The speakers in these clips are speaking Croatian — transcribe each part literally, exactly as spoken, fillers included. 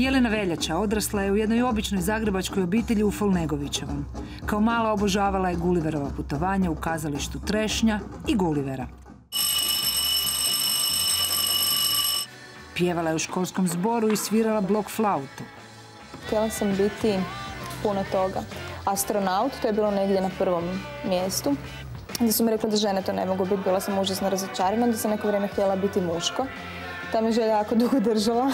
Jelena Veljača odrasla je u jednoj običnoj zagrebačkoj obitelji u Folnegovićevom. Kao mala obožavala je Gulliverova putovanja u kazalištu Trešnja i Gullivera. Pjevala je u školskom zboru i svirala blok flautu. Htjela sam biti puno toga. Astronaut, to je bilo negdje na prvom mjestu. Onda su mi rekli da žene to ne mogu biti, bila sam užasno razočarana, onda sam neko vrijeme htjela biti muško. Ta mi želja jako dugo držala.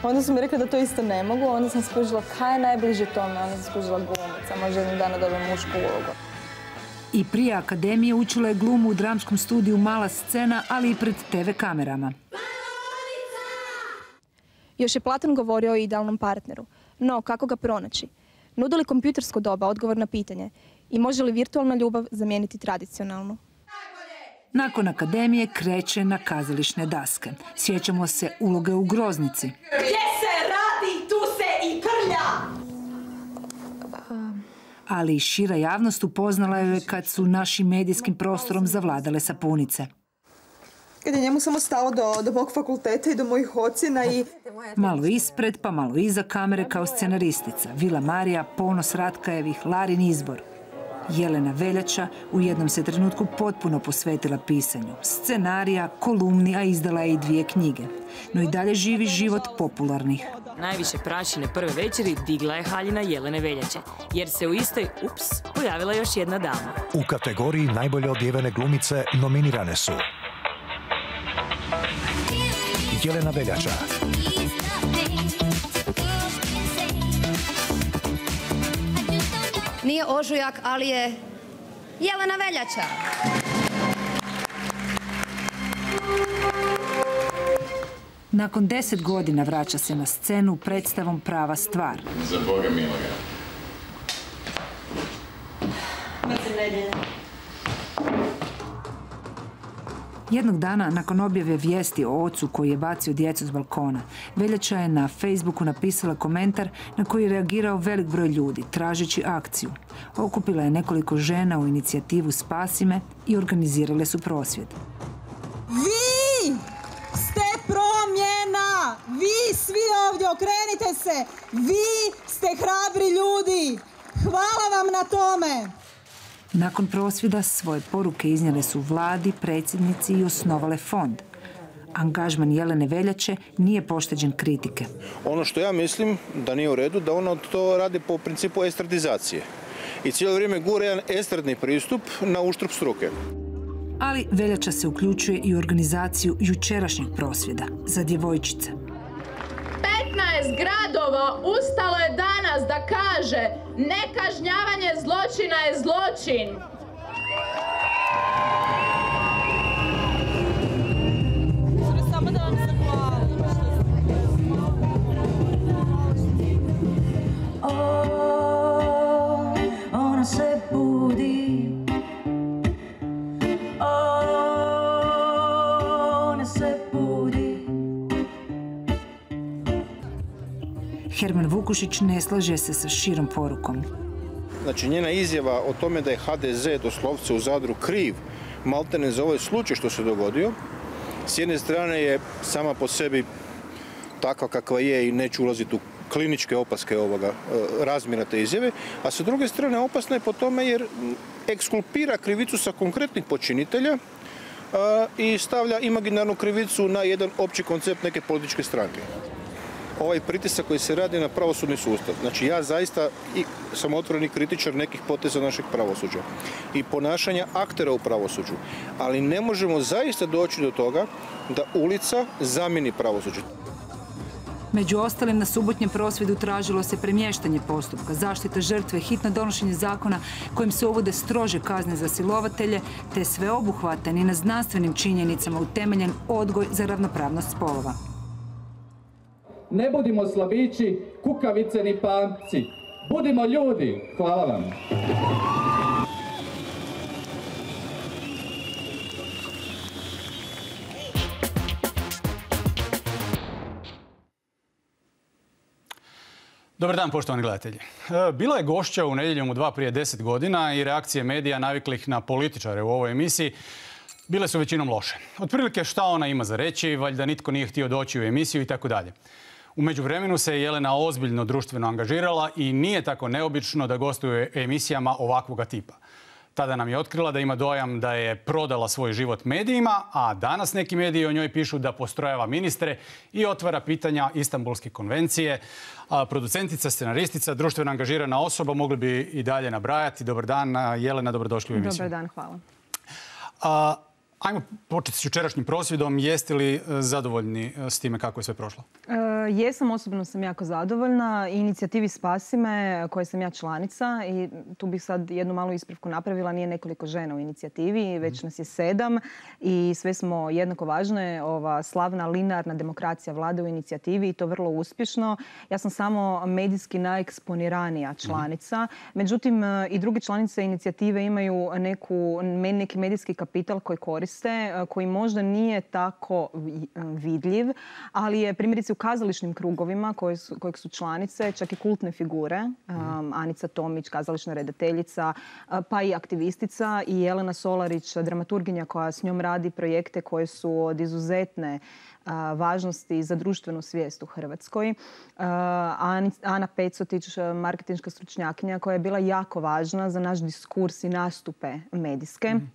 Onda su mi rekli da to isto ne mogu, onda sam skužila kaj je najbliže tome, onda sam skužila glumica, možda jednog dana dobijem mušku ulogu. I prije akademije učila je glumu u dramskom studiju Mala scena, ali i pred te ve kamerama. Još je Platon govorio o idealnom partneru. No, kako ga pronaći? Nudi li kompjutersko doba odgovor na pitanje i može li virtualna ljubav zamijeniti tradicionalnu? Nakon akademije kreće na kazališne daske. Sjećamo se uloge u Groznici. Gdje se radi, tu se i krlja! Ali i šira javnost upoznala je kad su našim medijskim prostorom zavladale sapunice. Kad je njemu samo stalo do, do mog fakulteta i do mojih ocjena i... Malo ispred, pa malo iza kamere kao scenaristica. Vila Marija, ponos Ratkajevih, Larin izbor. Jelena Veljača u jednom se trenutku potpuno posvetila pisanju. Scenarija, kolumni, a izdala je i dvije knjige. No i dalje živi život popularnih. Najviše prašine prve večeri digla je haljina Jelene Veljače, jer se u istoj, ups, pojavila još jedna dama. U kategoriji najbolje odjevene glumice nominirane su Jelena Veljača, nije ožujak, ali je Jelena Veljača. Nakon deset godina vraća se na scenu predstavom Prava stvar. Za Boga miloga. Jednog dana, nakon objave vijesti o ocu koji je bacio djecu s balkona, Veljača je na Facebooku napisala komentar na koji je reagirao velik broj ljudi, tražeći akciju. Okupila je nekoliko žena u inicijativu Spasi me i organizirale su prosvjed. Vi ste promjena! Vi svi ovdje, okrenite se! Vi ste hrabri ljudi! Hvala vam na tome! Nakon prosvjeda svoje poruke iznijele su vladi, predsjednici i osnovale fond. Angažman Jelene Veljače nije pošteđen kritike. Ono što ja mislim da nije u redu, da ona to radi po principu estradizacije. I cijelo vrijeme gura jedan estradni pristup na uštrb struke. Ali Veljača se uključuje i u organizaciju jučerašnjeg prosvjeda za djevojčice. petnaest gradova ustalo je danas da kaže nekažnjavanje zločina je zločin. O, ona se budi. O, ona se budi. Herman Vukušić ne slaže se sa širom porukom. Znači, njena izjava o tome da je ha de ze doslovce u Zadru kriv, maltene za ovaj slučaj što se dogodio, s jedne strane je sama po sebi takva kakva je i neću ulaziti u kliničke opaske ovoga razmjera te izjave, a sa druge strane opasna je po tome jer ekskulpira krivicu sa konkretnih počinitelja i stavlja imaginarnu krivicu na jedan opći koncept neke političke stranke. Ovaj pritisak koji se radi na pravosudni sustav. Znači, ja zaista i sam otvoreni kritičar nekih poteza našeg pravosuđa i ponašanja aktera u pravosuđu, ali ne možemo zaista doći do toga da ulica zamijeni pravosuđe. Među ostalim, na subotnjem prosvjedu tražilo se premještanje postupka, zaštita žrtve, hitno donošenje zakona kojim se uvode strože kazne za silovatelje, te sveobuhvatan i na znanstvenim činjenicama utemeljen odgoj za ravnopravnost spolova. Ne budimo slabići, kukavice ni pamci. Budimo ljudi. Hvala vam. Dobar dan, poštovani gledatelji. Bila je gošća u Nedjeljom u dva prije deset godina i reakcije medija naviklih na političare u ovoj emisiji bile su većinom loše. Otprilike šta ona ima za reći, valjda nitko nije htio doći u emisiju i tako dalje. U međuvremenu se Jelena ozbiljno društveno angažirala i nije tako neobično da gostuje u emisijama ovakvoga tipa. Tada nam je otkrila da ima dojam da je prodala svoj život medijima, a danas neki mediji o njoj pišu da postrojava ministre i otvara pitanja Istanbulske konvencije. A producentica, scenaristica, društveno angažirana osoba, mogli bi i dalje nabrajati. Dobar dan, Jelena, dobrodošli u emisiju. Dobar dan, hvala. A, ajmo početi s jučerašnjim prosvjedom. Jeste li zadovoljni s time kako je sve prošlo? E, jesam, osobno sam jako zadovoljna. Inicijativi Spasi me, koje sam ja članica, i tu bih sad jednu malu ispravku napravila, nije nekoliko žena u inicijativi, već nas je sedam i sve smo jednako važne. Ova slavna linearna demokracija vlada u inicijativi i to vrlo uspješno. Ja sam samo medijski najeksponiranija članica. Međutim, i druge članice inicijative imaju neku, neki medijski kapital koji koriste, koji možda nije tako vidljiv, ali je primjerice u kazališnim krugovima koje su, kojeg su članice, čak i kultne figure, um, Anica Tomić, kazališna redateljica, pa i aktivistica, i Jelena Solarić, dramaturginja koja s njom radi projekte koje su od izuzetne uh, važnosti za društvenu svijest u Hrvatskoj. Uh, Ana Pecotić, marketinška stručnjakinja koja je bila jako važna za naš diskurs i nastupe medijske. Mm.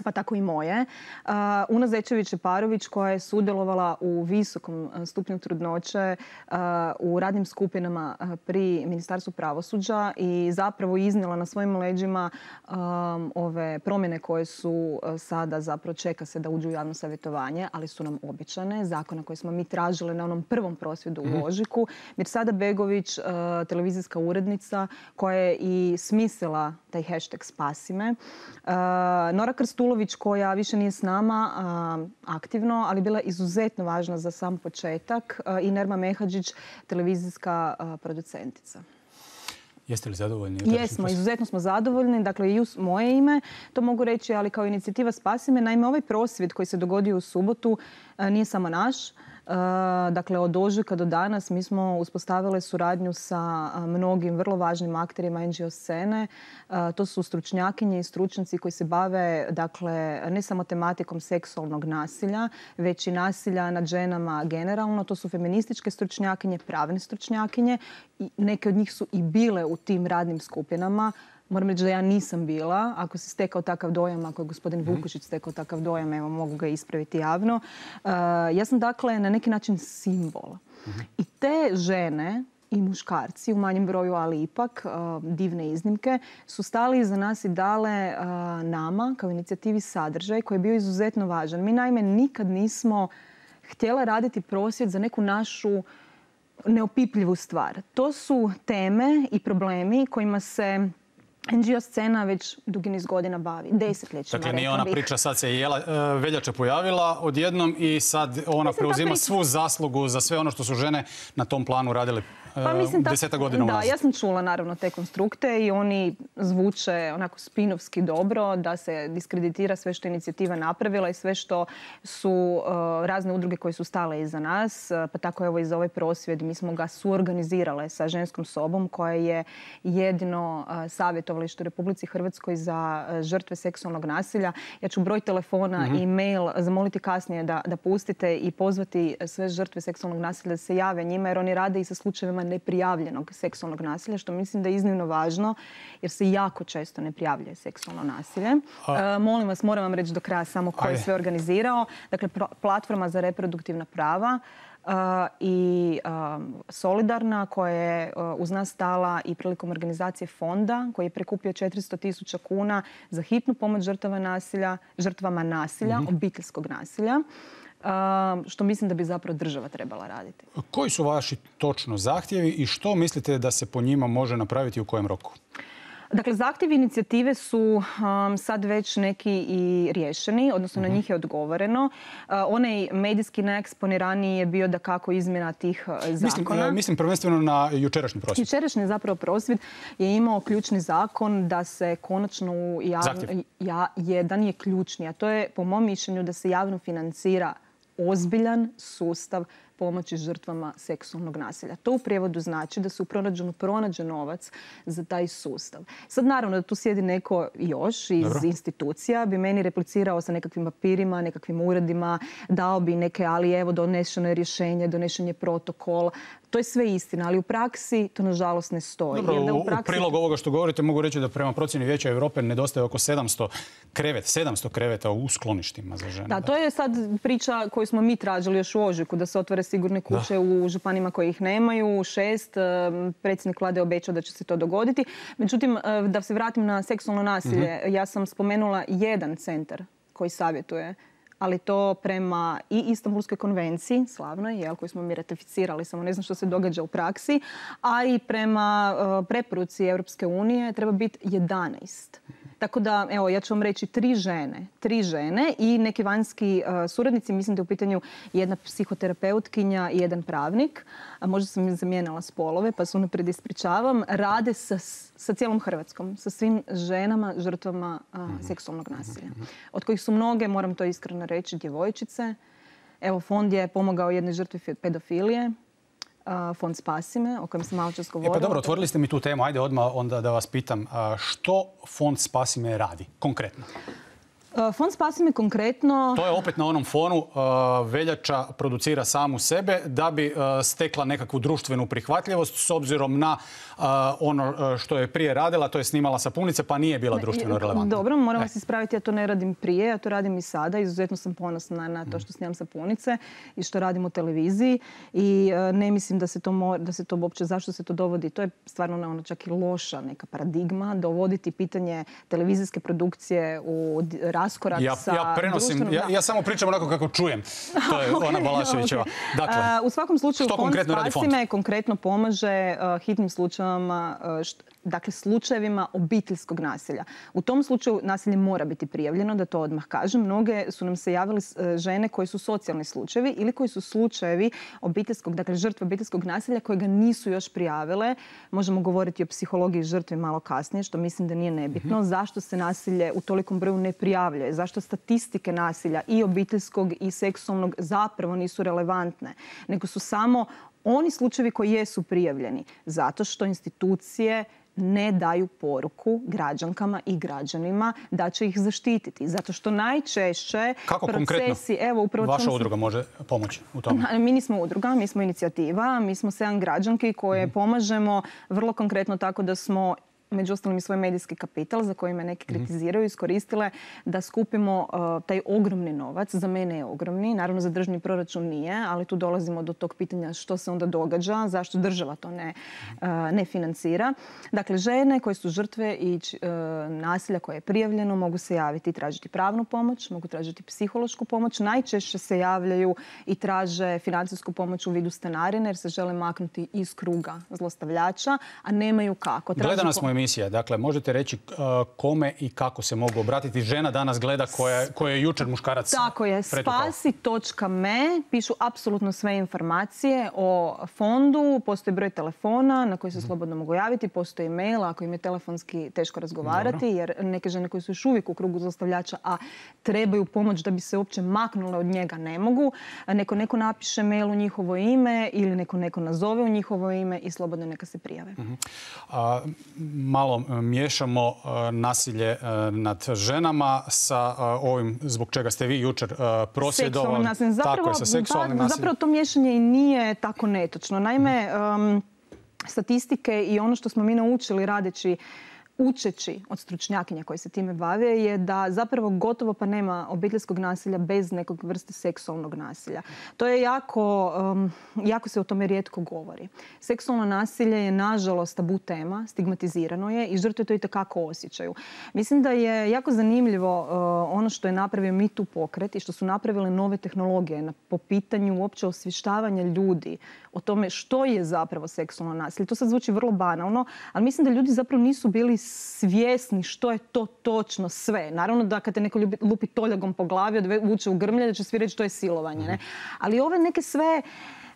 Pa tako i moje. Uh, Una Zečević-Parović koja je sudjelovala u visokom stupnju trudnoće uh, u radnim skupinama uh, pri Ministarstvu pravosuđa i zapravo iznijela na svojim leđima um, ove promjene koje su uh, sada zapravo čeka se da uđu u javno savjetovanje, ali su nam obećane. Zakona koje smo mi tražili na onom prvom prosvjedu u ožujku. Mirsada Begović, uh, televizijska urednica koja je i smislila taj hashtag Spasi me. Uh, Nora Krstulović koja više nije s nama uh, aktivno, ali bila izuzetno važna za sam početak, uh, i Nerma Mehadžić, televizijska uh, producentica. Jeste li zadovoljni? Jesmo, izuzetno smo zadovoljni. Dakle, i u moje ime to mogu reći, ali kao inicijativa Spasi me. Naime, ovaj prosvjed koji se dogodio u subotu uh, nije samo naš. Uh, dakle, od ožujka do danas mi smo uspostavili suradnju sa uh, mnogim vrlo važnim akterima en ge o scene. Uh, to su stručnjakinje i stručnjaci koji se bave, dakle, ne samo tematikom seksualnog nasilja, već i nasilja nad ženama generalno. To su feminističke stručnjakinje, pravne stručnjakinje. I neke od njih su i bile u tim radnim skupinama. Moram reći da ja nisam bila. Ako se stekao takav dojam, ako je gospodin Vukušić stekao takav dojam, evo, mogu ga ispraviti javno. Uh, ja sam, dakle, na neki način simbol. Uh-huh. I te žene i muškarci, u manjem broju, ali ipak uh, divne iznimke, su stali iza nas i dale uh, nama, kao inicijativi, sadržaj koji je bio izuzetno važan. Mi, naime, nikad nismo htjela raditi prosvjed za neku našu neopipljivu stvar. To su teme i problemi kojima se en ge o scena već dugi niz godina bavi, desetljećima. Dakle, nije ona priča, sad se Jela, uh, Veljača pojavila odjednom i sad ona mislim, preuzima svu zaslugu za sve ono što su žene na tom planu radile uh, pa, mislim, deseta godina da, unazad. Ja sam čula naravno te konstrukte i oni zvuče onako spinovski dobro, da se diskreditira sve što je inicijativa napravila i sve što su uh, razne udruge koje su stale iza nas. Uh, pa tako evo i za ovaj prosvjed mi smo ga suorganizirale sa Ženskom sobom koja je jedino uh, savjet u Republici Hrvatskoj za žrtve seksualnog nasilja. Ja ću broj telefona mm-hmm. i mail zamoliti kasnije da, da pustite i pozvati sve žrtve seksualnog nasilja da se jave njima, jer oni rade i sa slučajevima neprijavljenog seksualnog nasilja, što mislim da je iznimno važno, jer se jako često ne prijavljuje seksualno nasilje. A... E, molim vas, moram vam reći do kraja samo ko je sve organizirao. Dakle, platforma za reproduktivna prava, Uh, i uh, Solidarna koja je uh, uz nas stala i prilikom organizacije fonda koji je prikupio četiristo tisuća kuna za hitnu pomoć žrtava nasilja, žrtvama nasilja, mm-hmm. obiteljskog nasilja, uh, što mislim da bi zapravo država trebala raditi. Koji su vaši točno zahtjevi i što mislite da se po njima može napraviti u kojem roku? Dakle, zahtjevi inicijative su um, sad već neki i riješeni, odnosno uh-huh. na njih je odgovoreno. Uh, onaj medijski najeksponiraniji je bio da kako izmjena tih uh, zakona. Mislim, mislim prvenstveno na jučerašnji prosvjed. Jučerašnji zapravo prosvjed je imao ključni zakon da se konačno u javno, ja, jedan je ključni, a to je po mom mišljenju da se javno financira ozbiljan sustav pomoći žrtvama seksualnog nasilja. To u prijevodu znači da se u proračunu pronađe novac za taj sustav. Sad naravno da tu sjedi neko još iz Dobro. institucija, bi meni replicirao sa nekakvim papirima, nekakvim uredima, dao bi neke, ali evo donešeno je rješenje, donešen je protokol. To je sve istina, ali u praksi to nažalost ne stoji. Dobro, Jer da u, praksi... u prilog ovoga što govorite mogu reći da prema procjeni Vijeća Europe nedostaje oko sedamsto kreveta, sedamsto kreveta u skloništima za žene. Da, to je sad priča koju smo mi tražili još u ožujku, da se otvore sigurne kuće da. u županima koji ih nemaju, šest. Predsjednik vlade je obećao da će se to dogoditi. Međutim, da se vratim na seksualno nasilje, mm-hmm. ja sam spomenula jedan centar koji savjetuje, ali to prema i Istanbulskoj konvenciji, slavnoj, jel, koju smo mi ratificirali, samo ne znam što se događa u praksi, a i prema uh, preporuci Europske unije treba biti jedanaest. Tako da, evo, ja ću vam reći tri žene, tri žene i neki vanjski uh, suradnici, mislim da je u pitanju jedna psihoterapeutkinja i jedan pravnik, a možda sam im zamijenila spolove, pa se unaprijed ispričavam, rade sa, sa cijelom Hrvatskom, sa svim ženama, žrtvama uh, mm-hmm. seksualnog nasilja. Od kojih su mnoge, moram to iskreno reći, djevojčice. Evo, fond je pomogao jednoj žrtvi pedofilije, Fond Spasi me, o kojem sam malo čas govorila. E pa dobro, otvorili ste mi tu temu. Ajde odmah onda da vas pitam što Fond Spasi me radi konkretno? Fond Spasi me konkretno... To je opet na onom fonu Veljača producira samu sebe da bi stekla nekakvu društvenu prihvatljivost s obzirom na ono što je prije radila, to je snimala sapunice pa nije bila društveno relevantna. Dobro, moram vas ispraviti, ja to ne radim prije, ja to radim i sada. Izuzetno sam ponosna na to što snimam sapunice i što radim u televiziji i ne mislim da se to, mora, da se to uopće, zašto se to dovodi. To je stvarno ono čak i loša neka paradigma, dovoditi pitanje televizijske produkcije u raskorak ja, sa ja prenosim, ja, ja samo pričam onako kako čujem. To je okay, ona Balaševićeva. Okay. Dakle, uh, u svakom slučaju Fond Spasi me konkretno pomaže uh, hitnim slučajevima, uh, št, dakle slučajevima obiteljskog nasilja. U tom slučaju nasilje mora biti prijavljeno, da to odmah kažem. Mnoge su nam se javili uh, žene koji su socijalni slučajevi ili koji su slučajevi obiteljskog, dakle žrtve obiteljskog nasilja koje ga nisu još prijavile. Možemo govoriti o psihologiji žrtve malo kasnije, što mislim da nije nebitno. Mm-hmm. Zašto se nasilje u tolikom broju ne prijavljuje? Zašto statistike nasilja i obiteljskog i seksualnog zapravo nisu relevantne, nego su samo oni slučajevi koji jesu prijavljeni. Zato što institucije ne daju poruku građankama i građanima da će ih zaštititi. Zato što najčešće Kako procesi... konkretno evo, upravo vaša sam... udruga može pomoći u tome? Mi nismo udruga, mi smo inicijativa, mi smo sedam građanki koje mm. pomažemo vrlo konkretno tako da smo među ostalim i svoj medijski kapital, za koji me neki kritiziraju, iskoristile da skupimo uh, taj ogromni novac. Za mene je ogromni, naravno za državni proračun nije, ali tu dolazimo do tog pitanja što se onda događa, zašto država to ne, uh, ne financira. Dakle, žene koje su žrtve i uh, nasilja koje je prijavljeno mogu se javiti i tražiti pravnu pomoć, mogu tražiti psihološku pomoć. Najčešće se javljaju i traže financijsku pomoć u vidu stanarine jer se žele maknuti iz kruga zlostavljača, a nemaju kako. Gledana smo emisija. Dakle, možete reći uh, kome i kako se mogu obratiti. Žena danas gleda koja, koja je jučer muškarac Tako je. spasi točka me pišu apsolutno sve informacije o fondu. Postoji broj telefona na koji se slobodno mogu javiti. Postoji mail ako im je telefonski teško razgovarati. Dobro. Jer neke žene koje su još uvijek u krugu zlostavljača, a trebaju pomoć da bi se uopće maknule od njega, ne mogu. Neko neko napiše mail u njihovo ime ili neko neko nazove u njihovo ime i slobodno neka se prijave. Uh-huh. A, malo miješamo nasilje nad ženama sa ovim zbog čega ste vi jučer prosvjedovali. Zapravo, tako je, sa seksualnim nasiljem. Zapravo to miješanje i nije tako netočno. Naime, um, statistike i ono što smo mi naučili radeći učeći od stručnjakinja koji se time bave je da zapravo gotovo pa nema obiteljskog nasilja bez nekog vrste seksualnog nasilja. To je jako, um, jako se o tome rijetko govori. Seksualno nasilje je nažalost tabu tema, stigmatizirano je i žrtve to itekako osjećaju. Mislim da je jako zanimljivo uh, ono što je napravio Me Too pokret i što su napravile nove tehnologije na, po pitanju uopće osvještavanja ljudi o tome što je zapravo seksualno nasilje. To sad zvuči vrlo banalno, ali mislim da ljudi zapravo nisu bili svjesni što je to točno sve. Naravno da kad te neko lupi toljagom po glavi, odvuče u grmlje, da će svi reći to je silovanje. Ne? Ali ove neke sve,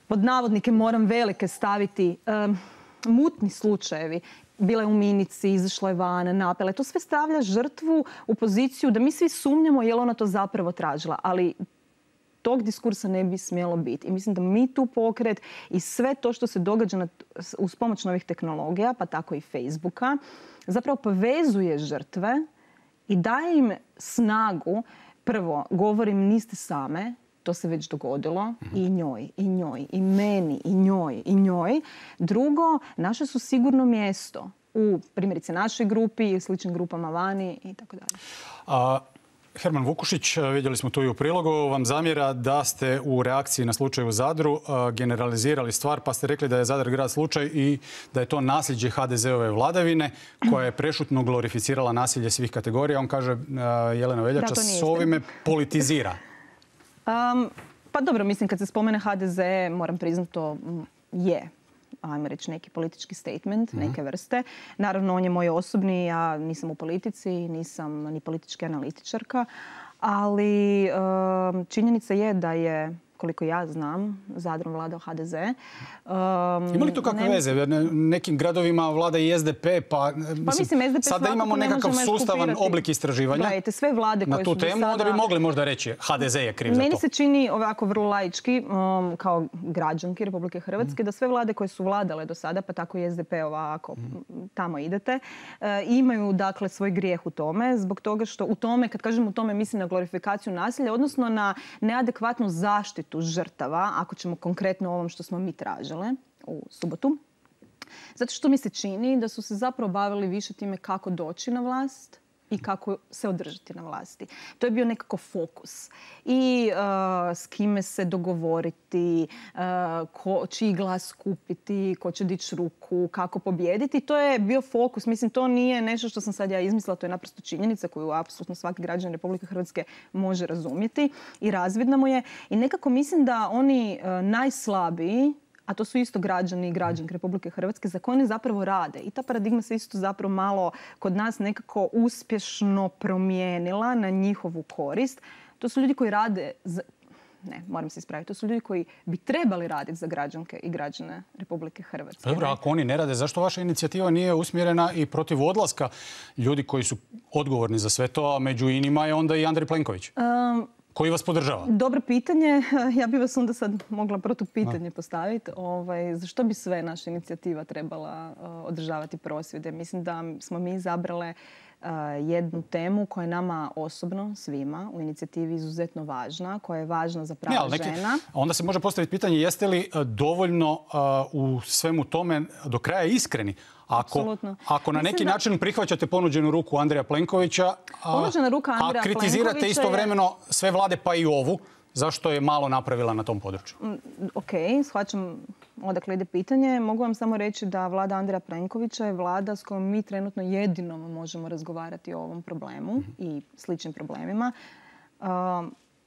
pod navodnike moram velike staviti, um, mutni slučajevi, bila je u minici, izašla je van, napela. To sve stavlja žrtvu u poziciju da mi svi sumnjamo je li ona to zapravo tražila. Ali tog diskursa ne bi smjelo biti. I mislim da Me Too pokret i sve to što se događa na, uz pomoć novih tehnologija, pa tako i Facebooka, zapravo povezuje žrtve i daje im snagu. Prvo, govorim, niste same, To se već dogodilo i njoj, i njoj, i meni, i njoj, i njoj. Drugo, naše su sigurno mjesto u primjerice našoj grupi i sličnim grupama vani i tako dalje. Herman Vukušić, vidjeli smo tu i u prilogu, vam zamjera da ste u reakciji na slučaj u Zadru generalizirali stvar, pa ste rekli da je Zadar grad slučaj i da je to nasljeđe ha de ze-ove vladavine koja je prešutno glorificirala nasilje svih kategorija. On kaže, Jelena Veljača s ovime politizira. Um, pa dobro, mislim kad se spomene ha de ze, moram priznati to je, ajmo reći, neki politički statement, mm-hmm. neke vrste. Naravno, on je moj osobni, ja nisam u politici, nisam ni politička analitičarka, ali um, činjenica je da je, koliko ja znam, Zadrom vladao ha de ze. Um, Ima li to kakve ne... veze? Nekim gradovima vlada i es de pe, pa, pa mislim, es de pe sada imamo nekakav sustavan oblik istraživanja. Gledajte, sve vlade koje na tu su temu, sada... onda bi mogli možda reći ha de ze je kriv za to. Meni se čini ovako vrlo laički, um, kao građanki Republike Hrvatske, mm. da sve vlade koje su vladale do sada, pa tako i es de pe ovako, mm. tamo idete, uh, imaju dakle svoj grijeh u tome, zbog toga što u tome, kad kažem u tome, mislim na glorifikaciju nasilja, odnosno na neadekvatnu zaštitu žrtava, ako ćemo konkretno o ovom što smo mi tražile u subotu. Zato što mi se čini da su se zapravo bavili više time kako doći na vlast i kako se održati na vlasti. To je bio nekako fokus. I uh, s kime se dogovoriti, uh, ko, čiji glas kupiti, ko će dići ruku, kako pobijediti. To je bio fokus. Mislim, to nije nešto što sam sad ja izmislila, to je naprosto činjenica koju apsolutno svaki građan Republike Hrvatske može razumjeti i razvidna mu je. I nekako mislim da oni uh, najslabiji, a to su isto građani i građanke Republike Hrvatske, za koje oni zapravo rade. I ta paradigma se isto zapravo malo kod nas nekako uspješno promijenila na njihovu korist. To su ljudi koji rade, za... ne, moram se ispraviti, to su ljudi koji bi trebali raditi za građanke i građane Republike Hrvatske. Dobro, ako oni ne rade, zašto vaša inicijativa nije usmjerena i protiv odlaska ljudi koji su odgovorni za sve to, a među inima je onda i Andrej Plenković? Um, Koji vas podržava? Dobro pitanje. Ja bi vas onda sad mogla protupitanje postaviti. Ovaj, zašto bi sve naša inicijativa trebala uh, održavati prosvjede? Mislim da smo mi izabrale uh, jednu temu koja je nama osobno, svima, u inicijativi izuzetno važna, koja je važna za prava ne, neki, žena. Onda se može postaviti pitanje jeste li dovoljno uh, u svemu tome do kraja iskreni? Ako, ako na neki da... način prihvaćate ponuđenu ruku Andreja Plenkovića, a, ruka Andreja a kritizirate istovremeno je... sve vlade pa i ovu, zašto je malo napravila na tom području? Ok, shvaćam odakle ide pitanje. Mogu vam samo reći da vlada Andreja Plenkovića je vlada s kojom mi trenutno jedinom možemo razgovarati o ovom problemu mm-hmm. i sličnim problemima. Uh,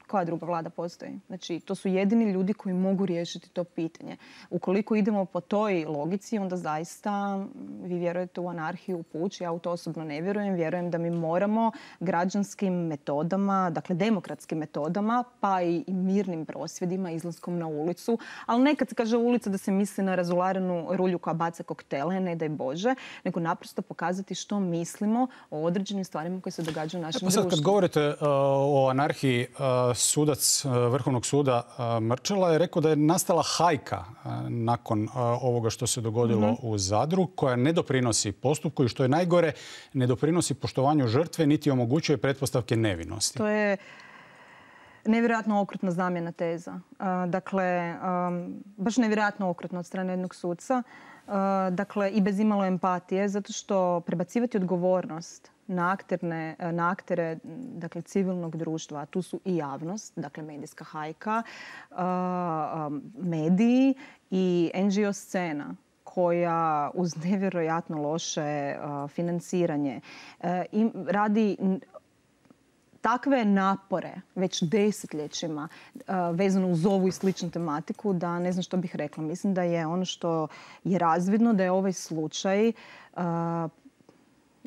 koja druga vlada postoji? Znači, to su jedini ljudi koji mogu riješiti to pitanje. Ukoliko idemo po toj logici, onda zaista vi vjerujete u anarhiju, u puč. Ja u to osobno ne vjerujem. Vjerujem da mi moramo građanskim metodama, dakle demokratskim metodama, pa i mirnim prosvjedima, izlaskom na ulicu. Ali nekad se kaže ulica da se misli na razularenu rulju koja baca koktele, ne daj Bože, nego naprosto pokazati što mislimo o određenim stvarima koje se događaju u našem društvu. Sad kad govorite uh, o anarhiji, uh, sudac Vrhovnog suda Mrčela je rekao da je nastala hajka nakon ovoga što se dogodilo mm-hmm. u Zadru, koja ne doprinosi postupku i što je najgore, ne doprinosi poštovanju žrtve niti omogućuje pretpostavke nevinosti. To je nevjerojatno okrutna zamjena teza. Dakle, baš nevjerojatno okrutno od strane jednog suca. Dakle, i bez imalo empatije, zato što prebacivati odgovornost na, akterne, na aktere dakle, civilnog društva, a tu su i javnost, dakle medijska hajka, mediji i en dži o scena koja uz nevjerojatno loše financiranje radi takve napore već desetljećima vezano uz ovu i sličnu tematiku da ne znam što bih rekla. Mislim da je ono što je razvidno da je ovaj slučaj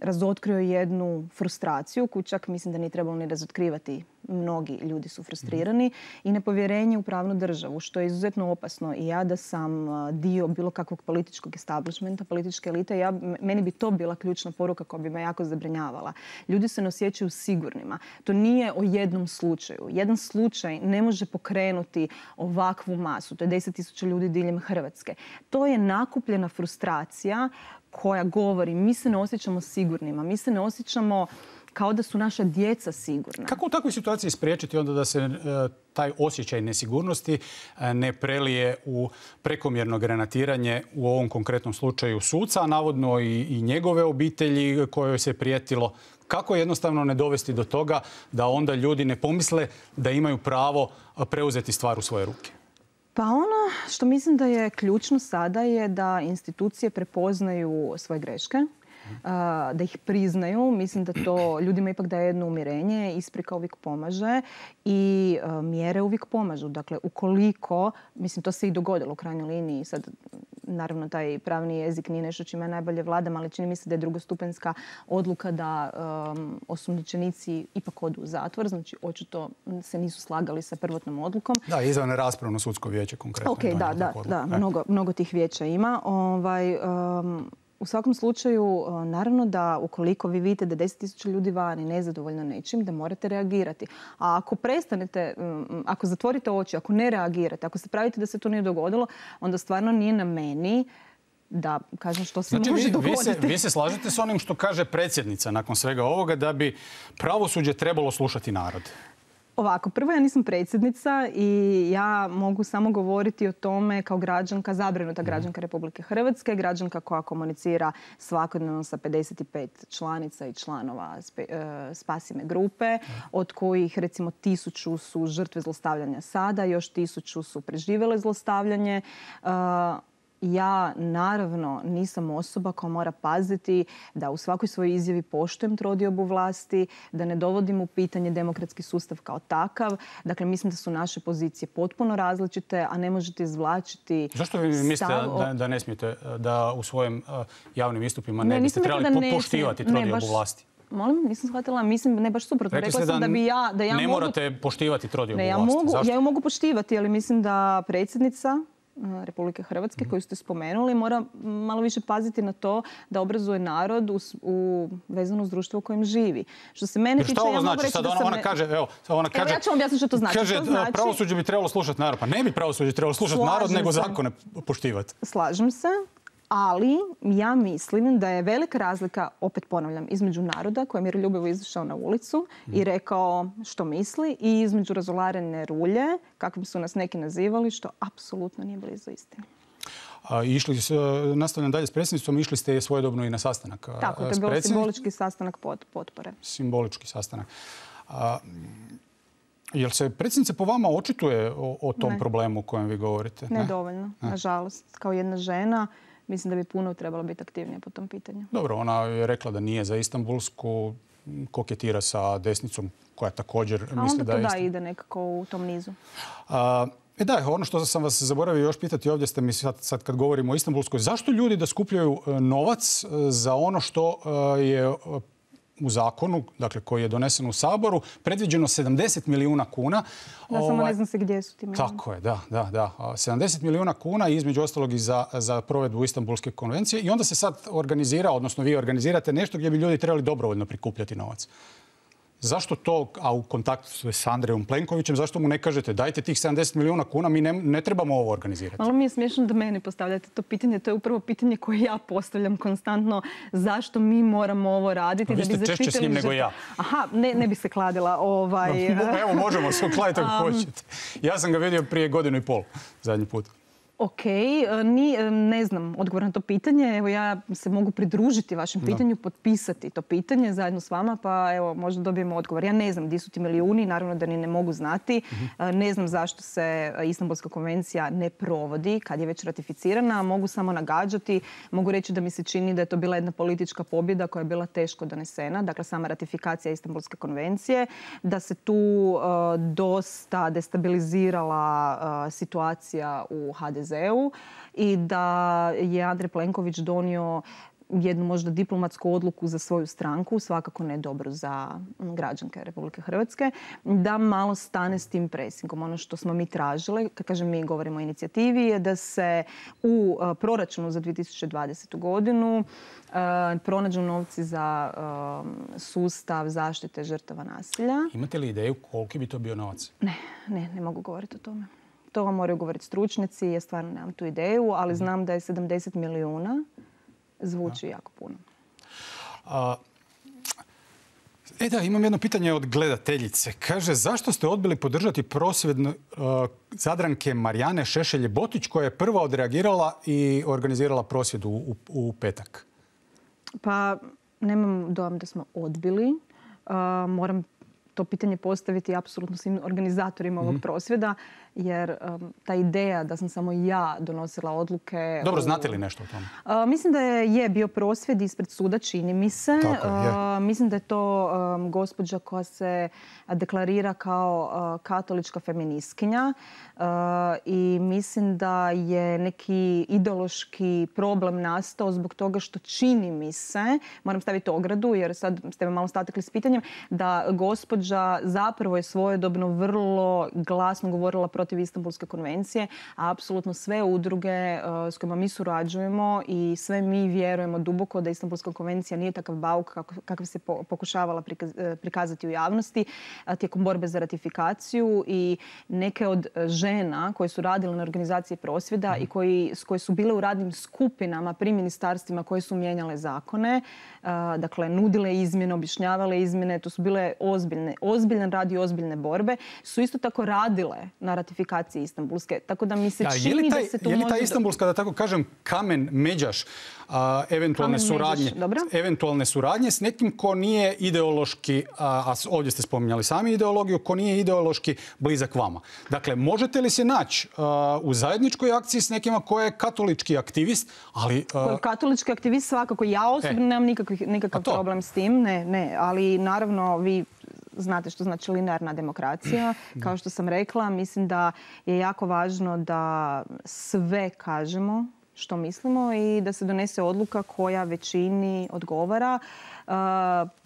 razotkrio jednu frustraciju koju čak mislim da nije trebalo ni razotkrivati. Mnogi ljudi su frustrirani i nepovjerenje u pravnu državu, što je izuzetno opasno. I ja da sam dio bilo kakvog političkog establishmenta, političke elite, ja, meni bi to bila ključna poruka koja bi me jako zabrinjavala. Ljudi se ne osjećaju sigurnima. To nije o jednom slučaju. Jedan slučaj ne može pokrenuti ovakvu masu. To je deset tisuća ljudi diljem Hrvatske. To je nakupljena frustracija koja govori mi se ne osjećamo sigurnima, mi se ne osjećamo kao da su naša djeca sigurna. Kako u takvoj situaciji spriječiti onda da se e, taj osjećaj nesigurnosti e, ne prelije u prekomjerno granatiranje u ovom konkretnom slučaju suca, a navodno i, i njegove obitelji kojoj se prijetilo? Kako jednostavno ne dovesti do toga da onda ljudi ne pomisle da imaju pravo preuzeti stvar u svoje ruke? Pa ono što mislim da je ključno sada je da institucije prepoznaju svoje greške, da ih priznaju. Mislim da to ljudima ipak daje jedno umirenje, isprika uvijek pomaže i mjere uvijek pomažu. Dakle, ukoliko, mislim to se i dogodilo u krajnjoj liniji, sad naravno taj pravni jezik nije nešto čime najbolje vladam, ali čini mi se da je drugostupanjska odluka da um, osumnjičenici ipak odu u zatvor, znači očito se nisu slagali sa prvotnom odlukom. Da, izvan raspravno sudsko vijeće konkretno. Ok, da, da, da, mnogo, mnogo tih vijeća ima. Ovaj, um, U svakom slučaju, naravno da ukoliko vi vidite da deset tisuća ljudi vani nezadovoljno nečim, da morate reagirati. A ako prestanete, ako zatvorite oči, ako ne reagirate, ako se pravite da se to nije dogodilo, onda stvarno nije na meni da kažem što se znači, može vi, dogoditi. Vi se, vi se slažete s onim što kaže predsjednica nakon svega ovoga da bi pravosuđe trebalo slušati narod? Ovako, prvo ja nisam predsjednica i ja mogu samo govoriti o tome kao građanka, zabrinuta građanka Republike Hrvatske, građanka koja komunicira svakodnevno sa pedeset pet članica i članova Spasi me grupe, od kojih recimo tisuću su žrtve zlostavljanja sada, još tisuću su preživjele zlostavljanje. Ja naravno nisam osoba koja mora paziti da u svakoj svojoj izjavi poštujem trodiobu vlasti, da ne dovodim u pitanje demokratski sustav kao takav. Dakle, mislim da su naše pozicije potpuno različite, a ne možete izvlačiti... Zašto vi mislite stav... da, da ne smijete da u svojim javnim istupima ne, ne biste trebali ne poštivati trodiobu baš... vlasti? Molim, nisam shvatila, mislim, ne baš suprotno. Rekli Rekla sam da, da bi ja... Da ja ne mogu... morate poštivati trodiobu ne, ja vlasti. Mogu, Zašto? ja ju mogu poštivati, ali mislim da predsjednica Republike Hrvatske, koju ste spomenuli, mora malo više paziti na to da obrazuje narod u, u vezano uz društvo u kojem živi. Što se mene tiče, šta ovo ja znači? mogu reći Sad da ona, sam... ona kaže, evo, ona kaže, evo, ja ću vam objasniti što to znači. Kaže, to znači... pravosuđe bi trebalo slušati narod. Pa ne bi pravosuđe trebalo slušati Slažem narod, nego se. zakone poštivati. Slažem se. Ali ja mislim da je velika razlika, opet ponavljam, između naroda koji je miroljubivo izašao na ulicu i rekao što misli i između razolarene rulje, kakvim su nas neki nazivali, što apsolutno nije blizu istine. A, išli, nastavljam dalje s predsjednicom, išli ste svojedobno i na sastanak. Tako, to je bio simbolički sastanak pod, potpore. Simbolički sastanak. A, jel se predsjednica po vama očituje o, o tom ne. problemu o kojem vi govorite? Ne, ne? dovoljno, ne. nažalost. Kao jedna žena, mislim da bi puno trebalo biti aktivnije po tom pitanju. Dobro, ona je rekla da nije za Istanbulsku, koketira sa desnicom koja također a misli da je... A onda to da ide nekako u tom nizu. A, E da, ono što sam vas zaboravio još pitati ovdje ste mi sad, sad kad govorimo o Istanbulskoj, zašto ljudi da skupljaju novac za ono što je u zakonu, dakle koji je donesen u Saboru, predviđeno sedamdeset milijuna kuna. Ja samo ovaj, ne znam se gdje su ti milijuni. Tako je, da, da, da. sedamdeset milijuna kuna i između ostalog i za, za provedbu Istanbulske konvencije. I onda se sad organizira, odnosno vi organizirate nešto gdje bi ljudi trebali dobrovoljno prikupljati novac. Zašto to, a u kontaktu s Andrejom Plenkovićem, zašto mu ne kažete dajte tih sedamdeset milijuna kuna, mi ne, ne trebamo ovo organizirati? Malo mi je smiješno da meni postavljate to pitanje. To je upravo pitanje koje ja postavljam konstantno. Zašto mi moramo ovo raditi? No, vi ste da bi češće s njim nego ja. Aha, ne, ne bi se kladila. Ovaj... No, evo, možemo se ukladiti ako um... hoćete. Ja sam ga vidio prije godinu i pol, zadnji put. Ok, ni, ne znam odgovor na to pitanje. Evo ja se mogu pridružiti vašem pitanju, da. potpisati to pitanje zajedno s vama, pa evo možda dobijemo odgovor. Ja ne znam gdje su ti milijuni, naravno da ni ne mogu znati. Uh-huh. Ne znam zašto se Istanbulska konvencija ne provodi kad je već ratificirana. Mogu samo nagađati, mogu reći da mi se čini da je to bila jedna politička pobjeda koja je bila teško donesena. Dakle, sama ratifikacija Istanbulske konvencije, da se tu uh, dosta destabilizirala uh, situacija u ha de zeu i da je Andrej Plenković donio jednu možda diplomatsku odluku za svoju stranku, svakako ne dobro za građanke Republike Hrvatske, da malo stane s tim presingom. Ono što smo mi tražili, kad kažem mi govorimo o inicijativi, je da se u proračunu za dvije tisuće dvadesetu godinu pronađu novci za sustav zaštite žrtava nasilja. Imate li ideju koliki bi to bio novac? Ne, ne, ne mogu govoriti o tome. To vam moraju govoriti stručnjaci, ja stvarno nemam tu ideju, ali znam da je sedamdeset milijuna zvuči jako puno. A, E da, imam jedno pitanje od gledateljice. Kaže, zašto ste odbili podržati prosvjed uh, Zadranke Marijane Šešelje-Botić koja je prva odreagirala i organizirala prosvjed u, u, u petak? Pa nemam dojam da smo odbili. Uh, moram to pitanje postaviti apsolutno svim organizatorima ovog prosvjeda, jer um, ta ideja da sam samo ja donosila odluke... Dobro, znate li nešto o tome? Uh, mislim da je, je bio prosvjed ispred suda, čini mi se. Tako je, je. Uh, mislim da je to um, gospođa koja se deklarira kao uh, katolička feministkinja uh, i mislim da je neki ideološki problem nastao zbog toga što čini mi se, moram staviti ogradu jer sad ste me malo statekli s pitanjem, da gospođa zapravo je svojedobno vrlo glasno govorila protiv Istanbulske konvencije, a apsolutno sve udruge uh, s kojima mi surađujemo i sve mi vjerujemo duboko da Istanbulska konvencija nije takav bauk kako, kakav se po, pokušavala prikaz, prikazati u javnosti uh, tijekom borbe za ratifikaciju i neke od žena koje su radile na organizaciji prosvjeda i koji, koje su bile u radnim skupinama pri ministarstvima koje su mijenjale zakone, uh, dakle nudile izmjene, objašnjavale izmjene, to su bile ozbiljne, ozbiljan rad i ozbiljne borbe, su isto tako radile na ratifikaciji Istanbulske. Tako da mi se ja, čini taj, da se tu je li ta može... Istanbulska, da tako kažem, kamen međaš a, eventualne, kamen suradnje, međaš, dobro. eventualne suradnje s nekim ko nije ideološki, a, a ovdje ste spominjali sami ideologiju, ko nije ideološki blizak vama. Dakle, možete li se naći u zajedničkoj akciji s nekima ko je katolički aktivist, ali... A... Katolički aktivist svakako. Ja osobno e. nemam nikakvih, nikakav problem s tim. Ne, ne. Ali naravno vi znate što znači linearna demokracija. Kao što sam rekla, mislim da je jako važno da sve kažemo što mislimo i da se donese odluka koja većini odgovara. Uh,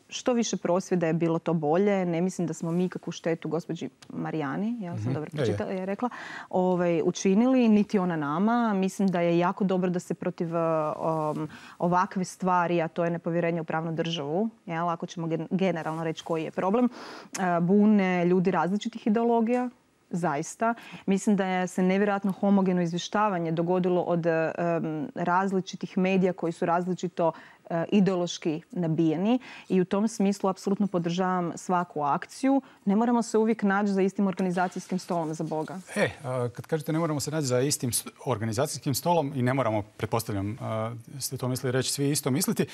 Što više prosvjeda je bilo to bolje. Ne mislim da smo mi kakvu štetu gospođi Marijani, ja sam dobro pročitala, je rekla, ovaj, učinili, niti ona nama. Mislim da je jako dobro da se protiv um, ovakve stvari, a to je nepovjerenje u pravnu državu, jel, ako ćemo generalno reći koji je problem, uh, bune ljudi različitih ideologija. Zaista. Mislim da je se nevjerojatno homogeno izvještavanje dogodilo od um, različitih medija koji su različito uh, ideološki nabijeni i u tom smislu apsolutno podržavam svaku akciju. Ne moramo se uvijek naći za istim organizacijskim stolom, za Boga. E, kad kažete ne moramo se naći za istim organizacijskim stolom i ne moramo, pretpostavljam, ste to mislili reći, svi isto misliti.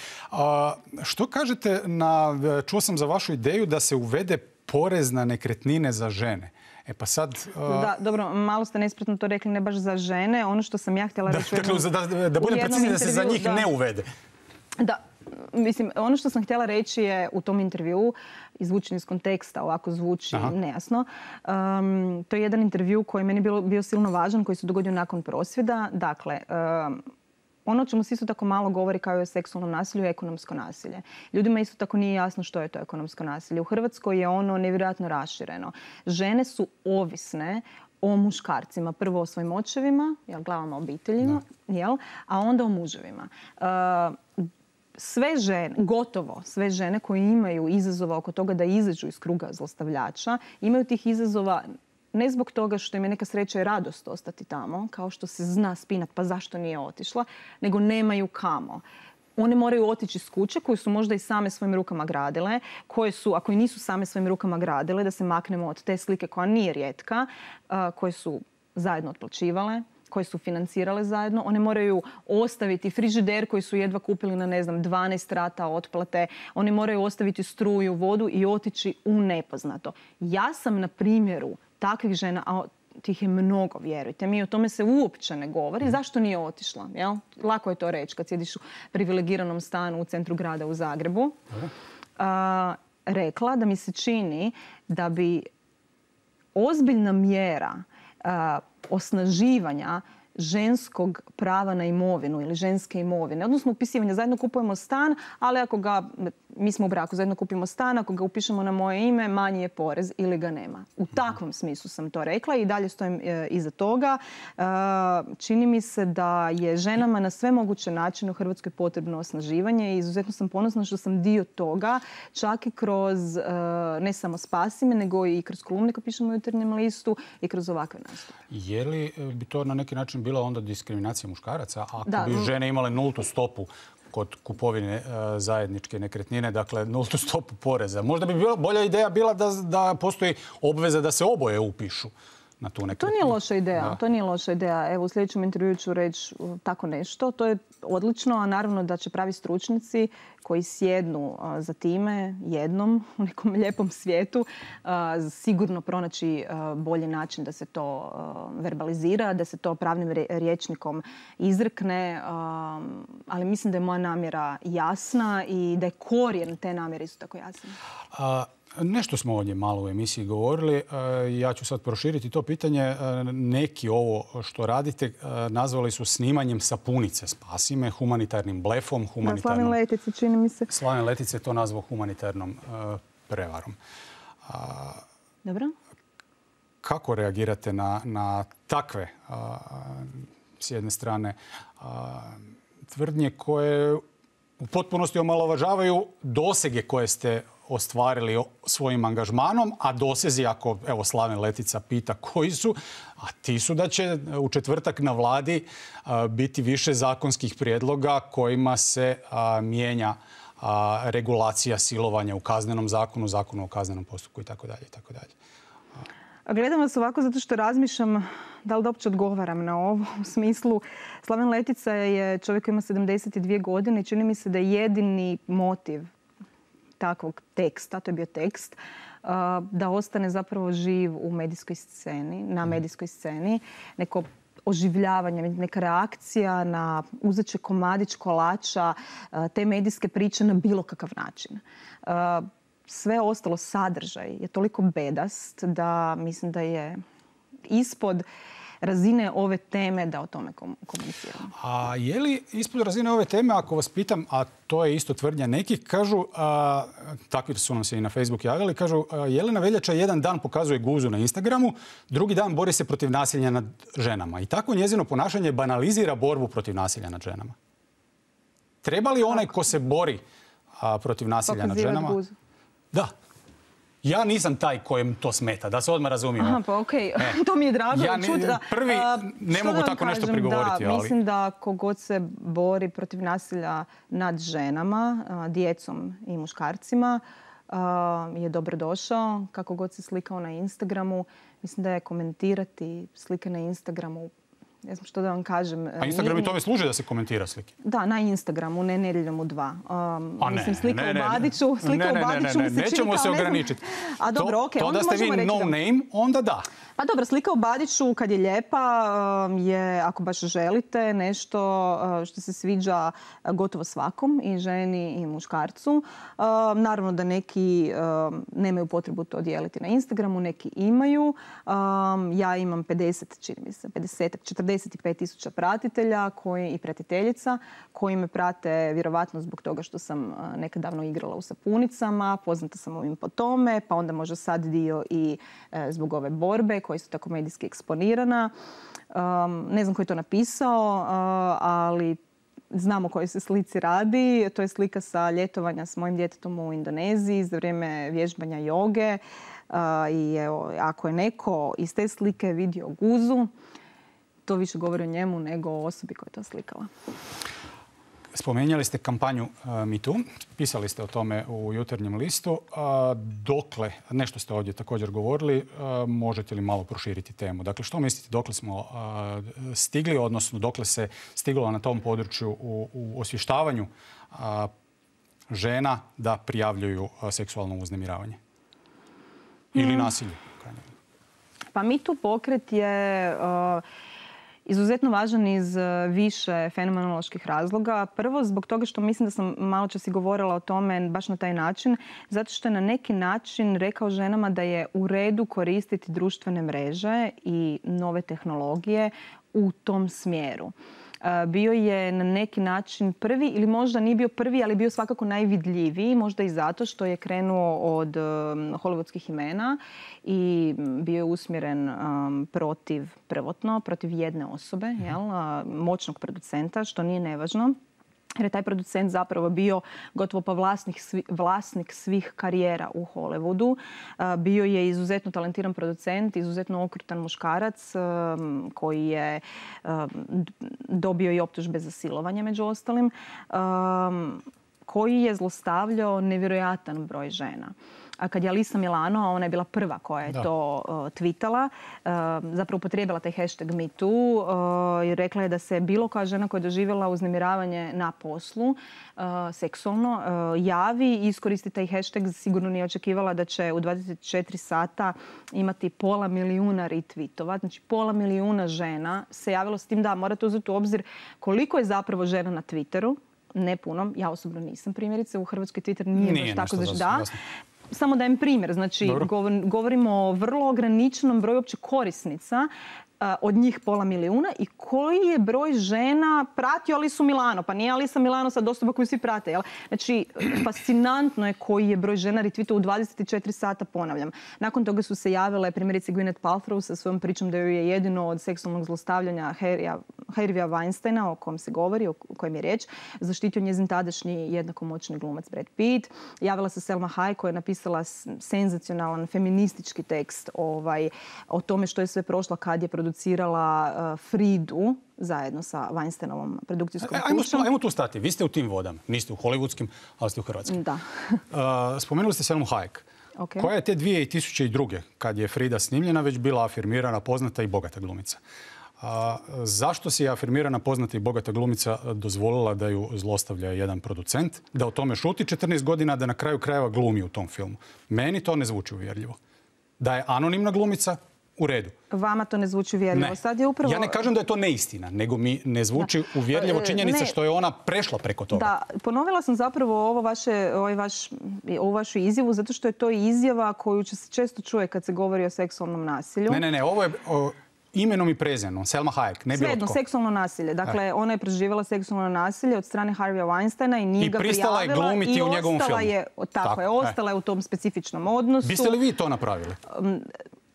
Što kažete na, čuo sam za vašu ideju da se uvede porez na nekretnine za žene. E pa sad... Uh... Da, dobro, malo ste nespretno to rekli, ne baš za žene. Ono što sam ja htjela reći... Da, dakle, da, da budem precizni da se za njih da, ne uvede. Da, mislim, ono što sam htjela reći je u tom intervjuu, izvučen iz konteksta, ovako zvuči Aha. nejasno. Um, to je jedan intervju koji je meni bio, bio silno važan, koji se dogodio nakon prosvjeda. Dakle, um, ono o čemu se isto tako malo govori kao i o seksualnom nasilju je ekonomsko nasilje. Ljudima isto tako nije jasno što je to ekonomsko nasilje. U Hrvatskoj je ono nevjerojatno rašireno. Žene su ovisne o muškarcima. Prvo o svojim očevima, jel, glavama obiteljima, jel, a onda o muževima. Uh, sve žene, gotovo sve žene koje imaju izazova oko toga da izađu iz kruga zlostavljača, imaju tih izazova ne zbog toga što im je neka sreća i radost ostati tamo, kao što se zna spinat, pa zašto nije otišla, nego nemaju kamo. One moraju otići iz kuće koju su možda i same svojim rukama gradile, koje su, ako i nisu same svojim rukama gradile, da se maknemo od te slike koja nije rijetka, koje su zajedno otplaćivale, koje su financirale zajedno. One moraju ostaviti frižider koji su jedva kupili na, ne znam, dvanaest rata otplate. One moraju ostaviti struju, vodu i otići u nepoznato. Ja sam na primjeru takvih žena, a tih je mnogo, vjerujte mi, o tome se uopće ne govori. Zašto nije otišla? Jel? Lako je to reći kad sjediš u privilegiranom stanu u centru grada u Zagrebu. A, rekla da mi se čini da bi ozbiljna mjera a, osnaživanja ženskog prava na imovinu ili ženske imovine, odnosno upisivanja. Zajedno kupujemo stan, ali ako ga, mi smo u braku, zajedno kupimo stan, ako ga upišemo na moje ime, manji je porez ili ga nema. U takvom smislu sam to rekla i dalje stojim e, iza toga. E, čini mi se da je ženama na sve moguće načine u Hrvatskoj potrebno osnaživanje i izuzetno sam ponosna što sam dio toga, čak i kroz e, ne samo Spasi me, nego i kroz kolumne koje pišemo u Jutarnjem listu i kroz ovakve nastupe. Je li bi to na neki način bila onda diskriminacija muškaraca ako da, bi žene imale nultu stopu kod kupovine e, zajedničke nekretnine, dakle nultu stopu poreza. Možda bi bila, bolja ideja bila da, da postoji obveza da se oboje upišu na tu nekretninu. To nije loša ideja. Da. To nije loša ideja. Evo, u sljedećem intervjuu ću reći uh, tako nešto. To je odlično, a naravno da će pravi stručnjaci koji sjednu uh, za time jednom u nekom lijepom svijetu uh, sigurno pronaći uh, bolji način da se to uh, verbalizira, da se to pravnim rječnikom izrekne, um, ali mislim da je moja namjera jasna i da je korijen te namjere isto tako jasan. A... Nešto smo ovdje malo u emisiji govorili. Ja ću sad proširiti to pitanje. Neki ovo što radite nazvali su snimanjem sapunice. Spasi me, humanitarnim blefom, humanitarnom... Slaven Letice, čini mi se. Slaven Letice to nazvao humanitarnom prevarom. Dobro. Kako reagirate na, na takve, s jedne strane, tvrdnje koje u potpunosti omalovažavaju dosege koje ste ostvarili svojim angažmanom, a dosezi, ako evo Slaven Letica pita koji su, a ti su da će u četvrtak na vladi a, biti više zakonskih prijedloga kojima se a, mijenja a, regulacija silovanja u kaznenom zakonu, zakonu o kaznenom postupku i tako dalje i tako dalje. Gledam vas ovako zato što razmišljam da li da uopće odgovaram na ovo. U smislu, Slaven Letica je čovjek koji ima sedamdeset dvije godine i čini mi se da je jedini motiv takvog teksta, to je bio tekst, da ostane zapravo živ u medijskoj sceni, na medijskoj sceni. Neko oživljavanje, neka reakcija na uzeće komadić kolača, te medijske priče na bilo kakav način. Sve ostalo sadržaj je toliko bedast da mislim da je ispod razine ove teme da o tome komuniciramo. A je li ispod razine ove teme, ako vas pitam, a to je isto tvrdnja nekih, kažu, a, takvi su nam se i na Facebook javili, kažu a, Jelena Veljača jedan dan pokazuje guzu na Instagramu, drugi dan bori se protiv nasilja nad ženama. I tako njezino ponašanje banalizira borbu protiv nasilja nad ženama. Treba li onaj ko se bori a, protiv nasilja nad ženama? Guzu. Da. Ja nisam taj kojem to smeta, da se odmah razumijemo. Aha, pa okej, okay. To mi je drago ja čuti. Prvi ne što mogu da tako kažem, nešto prigovoriti. Da, ali... Mislim da kogod se bori protiv nasilja nad ženama, djecom i muškarcima, je dobrodošao. Kako god se slikao na Instagramu, mislim da je komentirati slike na Instagramu, ne znam što da vam kažem. A Instagram i tome služi da se komentira slike? Da, na Instagramu, ne nedjeljom u dva. Um, A ne, mislim, slika ne, ne, u Badiću, slika ne, ne, u Badiću ne, ne, mi se čini nećemo kao, se ne znam- ograničiti. A dobro, to, okej, to onda da ste vi možemo reći no da- name, onda da. Pa dobro, slika u Badiću kad je lijepa um, je, ako baš želite, nešto uh, što se sviđa uh, gotovo svakom, i ženi i muškarcu. Um, naravno da neki um, nemaju potrebu to dijeliti na Instagramu, neki imaju. Um, ja imam pedeset, čini mi se, pedeset, četrdeset pet tisuća pratitelja koji, i pratiteljica koji me prate vjerovatno zbog toga što sam uh, nekad davno igrala u sapunicama, poznata sam ovim po tome, pa onda možda sad dio i uh, zbog ove borbe koja je isto tako medijski eksponirana. Um, ne znam ko je to napisao, uh, ali znam o kojoj se slici radi. To je slika sa ljetovanja s mojim djetetom u Indoneziji za vrijeme vježbanja joge. Uh, I evo, ako je neko iz te slike vidio guzu, to više govori o njemu nego o osobi koja je to slikala. Spomenjali ste kampanju uh, Me Too, pisali ste o tome u Jutarnjem listu. Uh, dokle, nešto ste ovdje također govorili, uh, možete li malo proširiti temu? Dakle, što mislite, dokle smo uh, stigli, odnosno dokle se stiglo na tom području u, u osvještavanju uh, žena da prijavljuju uh, seksualno uznemiravanje? Ili Mm. nasilje? Pa Me Too pokret je uh, izuzetno važan iz više fenomenoloških razloga. Prvo, zbog toga što mislim da sam malo čas i govorila o tome baš na taj način, zato što je na neki način rekao ženama da je u redu koristiti društvene mreže i nove tehnologije u tom smjeru. Bio je na neki način prvi, ili možda nije bio prvi, ali bio svakako najvidljiviji, možda i zato što je krenuo od um, hollywoodskih imena i bio je usmjeren um, protiv, prvotno, protiv jedne osobe, jel, moćnog producenta, što nije nevažno. jer je taj producent zapravo bio gotovo pa vlasnik, svi, vlasnik svih karijera u Hollywoodu. Bio je izuzetno talentiran producent, izuzetno okrutan muškarac koji je dobio i optužbe za silovanje među ostalim, koji je zlostavljao nevjerojatan broj žena. A kad je Alyssa Milano, a ona je bila prva koja je da. to uh, tweetala, uh, zapravo upotrijebila taj hashtag MeToo uh, i rekla je da se bilo koja žena koja je doživjela uznemiravanje na poslu, uh, seksualno, uh, javi i iskoristi taj hashtag. Sigurno nije očekivala da će u dvadeset četiri sata imati pola milijuna retweetova. Znači pola milijuna žena se javilo, s tim da morate uzeti u obzir koliko je zapravo žena na Twitteru. Ne puno. Ja osobno nisam primjerice. U Hrvatskoj Twitter nije, nije baš tako da. Samo dajem primjer. Znači, Dobro. govorimo o vrlo ograničenom broju uopće korisnica, od njih pola milijuna, i koji je broj žena pratio Alysu Milano. Pa nije Alyssa Milano sad osoba koju svi prate. Jel? Znači, fascinantno je koji je broj žena retweetao u dvadeset četiri sata, ponavljam. Nakon toga su se javile primjerice Gwyneth Paltrow sa svojom pričom da joj je jedino od seksualnog zlostavljanja Harveyja Weinsteina, o kojem se govori, o kojem je riječ, zaštitio njezin tadašnji jednako moćni glumac Brad Pitt. Javila se Selma Hayek koja je napisala senzacionalan feministički tekst ovaj, o tome što je sve prošla kad je producirala uh, Fridu zajedno sa Weinsteinovom produkcijskom kućom. Ajmo, ajmo tu stati. Vi ste u tim vodama. Niste u hollywoodskim, ali ste u hrvatskim. Da. uh, spomenuli ste Selmu Hayek. Okay. Koja je te dvije tisuće druge. kad je Frida snimljena, već bila afirmirana, poznata i bogata glumica. A zašto si je afirmirana, poznata i bogata glumica dozvolila da ju zlostavlja jedan producent, da o tome šuti četrnaest godina, da na kraju krajeva glumi u tom filmu? Meni to ne zvuči uvjerljivo. Da je anonimna glumica, u redu. Vama to ne zvuči uvjerljivo. Ne. Sad je upravo... Ja ne kažem da je to neistina, nego mi ne zvuči da. uvjerljivo činjenica ne. što je ona prešla preko toga. Da, ponovila sam zapravo ovo vaše, ovaj vaš, ovu vašu izjavu, zato što je to izjava koju se često čuje kad se govori o seksualnom nasilju. Ne, ne, ne, ovo je... O... imenom i prezimenom, Selma Hayek, ne bilo Svejedno, tko. seksualno nasilje. Dakle, e. ona je preživjela seksualno nasilje od strane Harveyja Weinsteina i nije I ga prijavila. I pristala je glumiti u njegovom filmu. Je, tako, tako je, ostala e. je u tom specifičnom odnosu. Biste li vi to napravili? Um,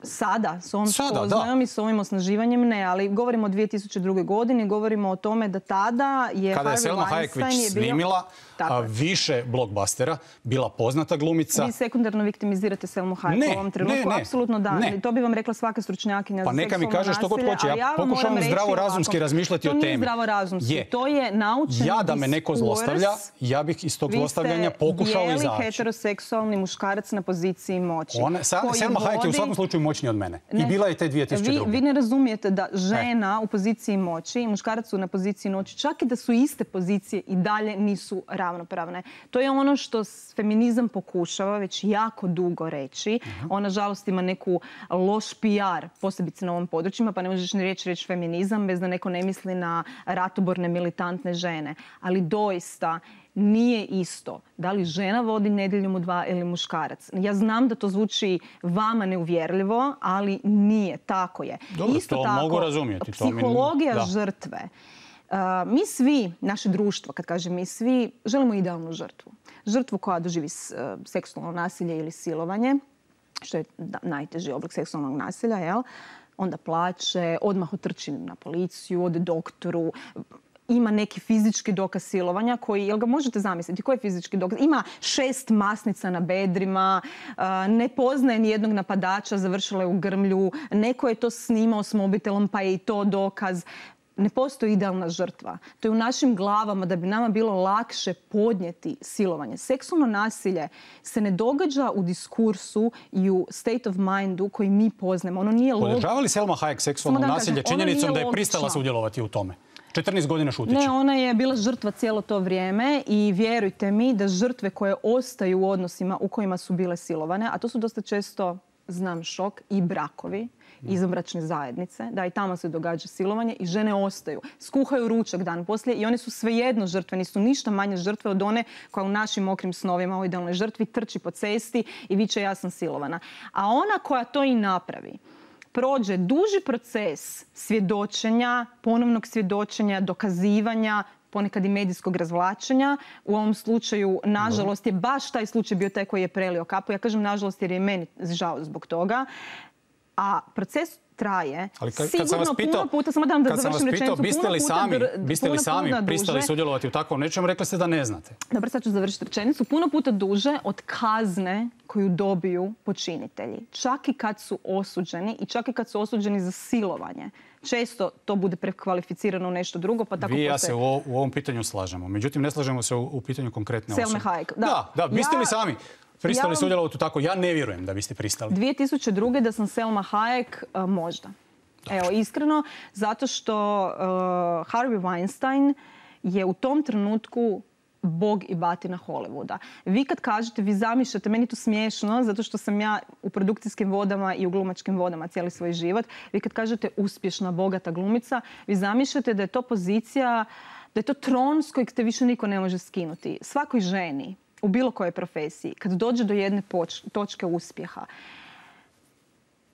Sada, s ovom spoznajom i s ovim osnaživanjem ne, ali govorimo o dvije tisuće druge. godini, govorimo o tome da tada je Kada je Selma Hayek snimila a, više blockbustera, bila poznata glumica. Vi sekundarno viktimizirate Selmu Hayek ne, u ovom trenutku, ne, ne, apsolutno da. Ne. To bi vam rekla svaka stručnjakinja pa za seksualno nasilje. Pa neka mi kaže što god hoće, ja, ja pokušavam zdravorazumski razmišljati o temi. To nije zdravorazumski, je. to je naučen diskurs. Ja da me neko zlostavlja, ja bih iz tog zlostavljanja pokušao izaći. Vi ste bijeli heteroseksualni muškarac na poziciji moći. Ona, Selma Hayek je u svakom slučaju moćniji od mene. I bila je te dvije tisuće druge. Vi, vi ne razumijete da žena e. u poziciji moći i muškarac su na poziciji moći, čak i da su iste pozicije, i dalje nisu ravnopravne. To je ono što feminizam pokušava već jako dugo reći. Uh-huh. On, nažalost, ima neku loš P R, posebice na ovom područjima, pa ne možeš ni reći reći feminizam bez da neko ne misli na ratoborne, militantne žene. Ali doista nije isto da li žena vodi Nedjeljom u dva ili muškarac. Ja znam da to zvuči vama neuvjerljivo, ali nije. Tako je. Dobro, isto to tako, mogu razumjeti. Psihologija to mi... žrtve. Uh, mi svi, naše društvo, kad kažem mi svi, želimo idealnu žrtvu. Žrtvu koja doživi uh, seksualno nasilje ili silovanje, što je da, najteži oblik seksualnog nasilja, jel? Onda plače, odmah otrči na policiju, ode doktoru, ima neki fizički dokaz silovanja koji, jel ga možete zamisliti, koji je fizički dokaz? Ima šest masnica na bedrima, ne poznaje ni jednog napadača, završila je u grmlju, neko je to snimao s mobitelom pa je i to dokaz. Ne postoji idealna žrtva. To je u našim glavama da bi nama bilo lakše podnijeti silovanje. Seksualno nasilje se ne događa u diskursu i u state of mindu koji mi poznajemo. Ono nije logično. Podržava li Selma Hayek seksualno nasilje činjenicom da je pristala sudjelovati u tome? četrnaest godina šutići. Ne, ona je bila žrtva cijelo to vrijeme i vjerujte mi da žrtve koje ostaju u odnosima u kojima su bile silovane, a to su dosta često, znam šok, i brakovi, izvanbračne zajednice, da i tamo se događa silovanje i žene ostaju. Skuhaju ručak dan poslije i one su svejedno žrtve, nisu ništa manje žrtve od one koja u našim mokrim snovima o idealnoj žrtvi trči po cesti i viče ja sam silovana. A ona koja to i napravi, prođe duži proces svjedočenja, ponovnog svjedočenja, dokazivanja, ponekad i medijskog razvlačenja. U ovom slučaju, nažalost, je baš taj slučaj bio taj koji je prelio kapu. Ja kažem nažalost jer je meni žao zbog toga. A proces traje. Ali kad, sigurno kad sam vas pitao, puno puta, samo dam da kad sam završim vas pitao, rečenicu, biste puno li puta sami, dr- biste li puno sami puta pristali duže. sudjelovati u takvom nečem, rekli ste da ne znate. Dobro, sad ću završiti rečenicu. Puno puta duže od kazne koju dobiju počinitelji. Čak i kad su osuđeni i čak i kad su osuđeni za silovanje. Često to bude prekvalificirano u nešto drugo, pa tako Vi i ja postoje- se u, u ovom pitanju slažemo. Međutim, ne slažemo se u, u pitanju konkretne Selme osobe. Hayek, da. Da, da, biste Ja- li sami pristali ja- sudjelovati u tako? Ja ne vjerujem da biste pristali. dvije tisuće druge da sam Selma Hayek, uh, možda. Evo, iskreno, zato što uh, Harvey Weinstein je u tom trenutku bog i batina Hollywooda. Vi kad kažete, vi zamišljate, meni je to smiješno, zato što sam ja u produkcijskim vodama i u glumačkim vodama cijeli svoj život. Vi kad kažete uspješna, bogata glumica, vi zamišljate da je to pozicija, da je to tron s kojeg te više niko ne može skinuti. Svakoj ženi, u bilo kojoj profesiji, kad dođe do jedne poč- točke uspjeha,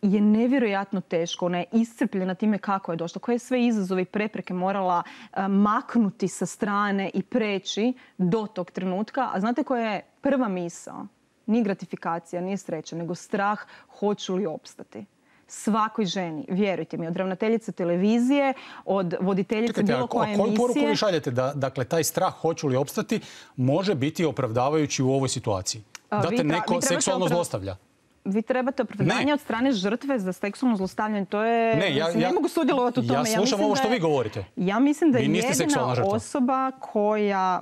je nevjerojatno teško. Ona je iscrpljena time kako je došla, koje je sve izazove i prepreke morala uh, maknuti sa strane i preći do tog trenutka. A znate koja je prva misao? Nije gratifikacija, nije sreća, nego strah hoću li opstati. Svakoj ženi, vjerujte mi, od ravnateljice televizije, od voditeljice Čekajte, bilo a, koje a koju poruku emisije. vi šaljete da dakle, taj strah hoću li opstati može biti opravdavajući u ovoj situaciji? A, Da vi te tra- neko vi trebate seksualno oprav- zlostavlja? Vi trebate opravdanje Ne. od strane žrtve za seksualno zlostavljanje. To je, Ne, ja- mislim, ne ja- mogu sudjelovati u ja tome. slušam mislim ovo da što je- vi govorite. Ja mislim da Vi je niste seksualna jedina žrtva. osoba koja...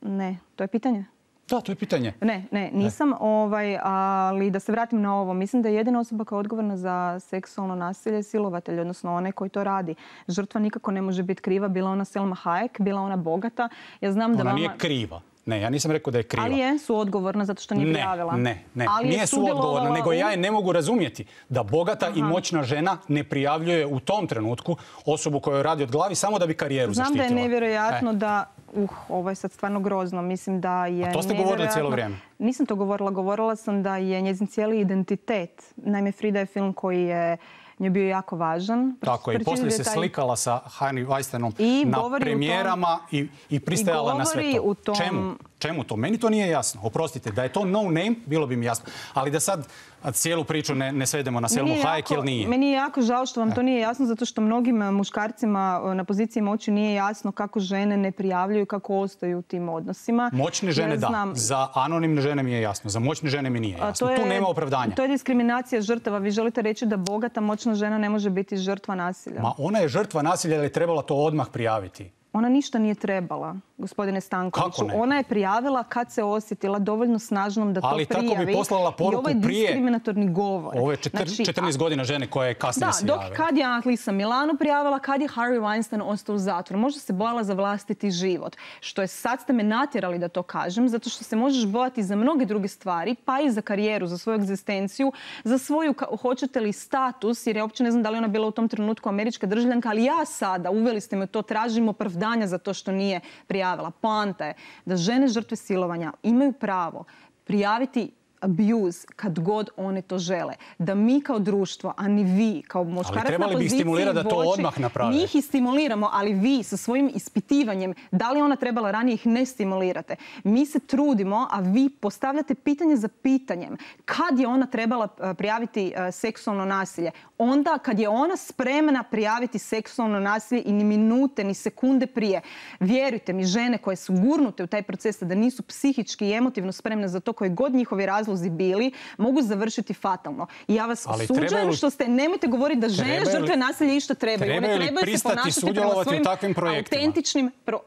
Ne, to je pitanje. Da, to je pitanje. Ne, ne, nisam, ovaj, ali da se vratim na ovo. Mislim da je jedina osoba koja je odgovorna za seksualno nasilje silovatelj, odnosno onaj koji to radi. Žrtva nikako ne može biti kriva, bila ona Selma Hayek, bila ona bogata. Ja znam da Ona vama... nije kriva. Ne, ja nisam rekao da je kriva. Ali je suodgovorna zato što nije Ne, prijavila. ne, ne. Ali je Nije suodgovorna, sudjelovala nego u- ja je ne mogu razumjeti da bogata i Aha. moćna žena ne prijavljuje u tom trenutku osobu koja joj radi od glavi samo da bi karijeru Znam zaštitila. da je nevjerojatno E. da... Uh, ovo je sad stvarno grozno. Mislim da je A to ste govorili cijelo nevjerojatno- vrijeme. Nisam to govorila. Govorila sam da je njezin cijeli identitet. Naime, Frida je film koji je njoj bio jako važan. Tako je. I poslije se Pročitajte taj- slikala sa Harvey Weinsteinom I na govori u tom- premijerama i, i pristajala I na sve govori to. u tom- Čemu? Čemu to? Meni to nije jasno. Oprostite, da je to no name, bilo bi mi jasno. Ali da sad a, cijelu priču ne, ne svedemo na Selmu Meni je Hayek, jako- jer nije. Meni je jako žao što vam to nije jasno, zato što mnogim e, muškarcima e, na poziciji moći nije jasno kako žene ne prijavljuju, kako ostaju u tim odnosima. Moćne Ja žene da. znam- Za anonimne žene mi je jasno. Za moćne žene mi nije A jasno. Tu nema opravdanja. To je diskriminacija žrtava. Vi želite reći da bogata, moćna žena ne može biti žrtva nasilja? Ma ona je žrtva nasilja, ali je trebala to odmah prijaviti. Ona ništa nije trebala, gospodine Stankoviću. Kako ne? Ona je prijavila kad se osjetila dovoljno snažnom da to Ali prijavi. tako bi poslala I ovo poruku je prije. diskriminatorni govor. Ovo je četir- Znači, četrnaest godina žene koja je kasnije Da, se dok javila. kad je Atlisa Milano prijavila, kad je Harvey Weinstein ostao u zatvoru. Možda se bojala za vlastiti život. Što je, sad ste me natjerali da to kažem, zato što se možeš bojati za mnoge druge stvari, pa i za karijeru, za svoju egzistenciju, za svoju, ka- hoćete li, status, jer ja uopće ne znam da li ona bila u tom trenutku američka državljanka, ali ja sada, uveli ste me u to, tražim opravdanja za to što nije prijavila. Poanta je da žene žrtve silovanja imaju pravo prijaviti abuse kad god one to žele. Da mi kao društvo, a ni vi kao muškarac na trebali bi ih poziciji stimulirati da to vođe, odmah naprave. mi ih i stimuliramo, ali vi sa svojim ispitivanjem, da li je ona trebala ranije, ih ne stimulirate. Mi se trudimo, a vi postavljate pitanje za pitanjem. Kad je ona trebala eh, prijaviti eh, seksualno nasilje? Onda kad je ona spremna prijaviti seksualno nasilje i ni minute, ni sekunde prije. Vjerujte mi, žene koje su gurnute u taj proces, da nisu psihički i emotivno spremne za to, koji god njihovi razlozi bili, mogu završiti fatalno. I ja vas Ali osuđujem trebaju li- što ste, nemojte govoriti da žene Trebaju li- žrtve nasilja išta trebaju. One trebaju li trebaju se pristati ponašati prema sudjelovati u svojim takvim projektima? autentičnim... Pro...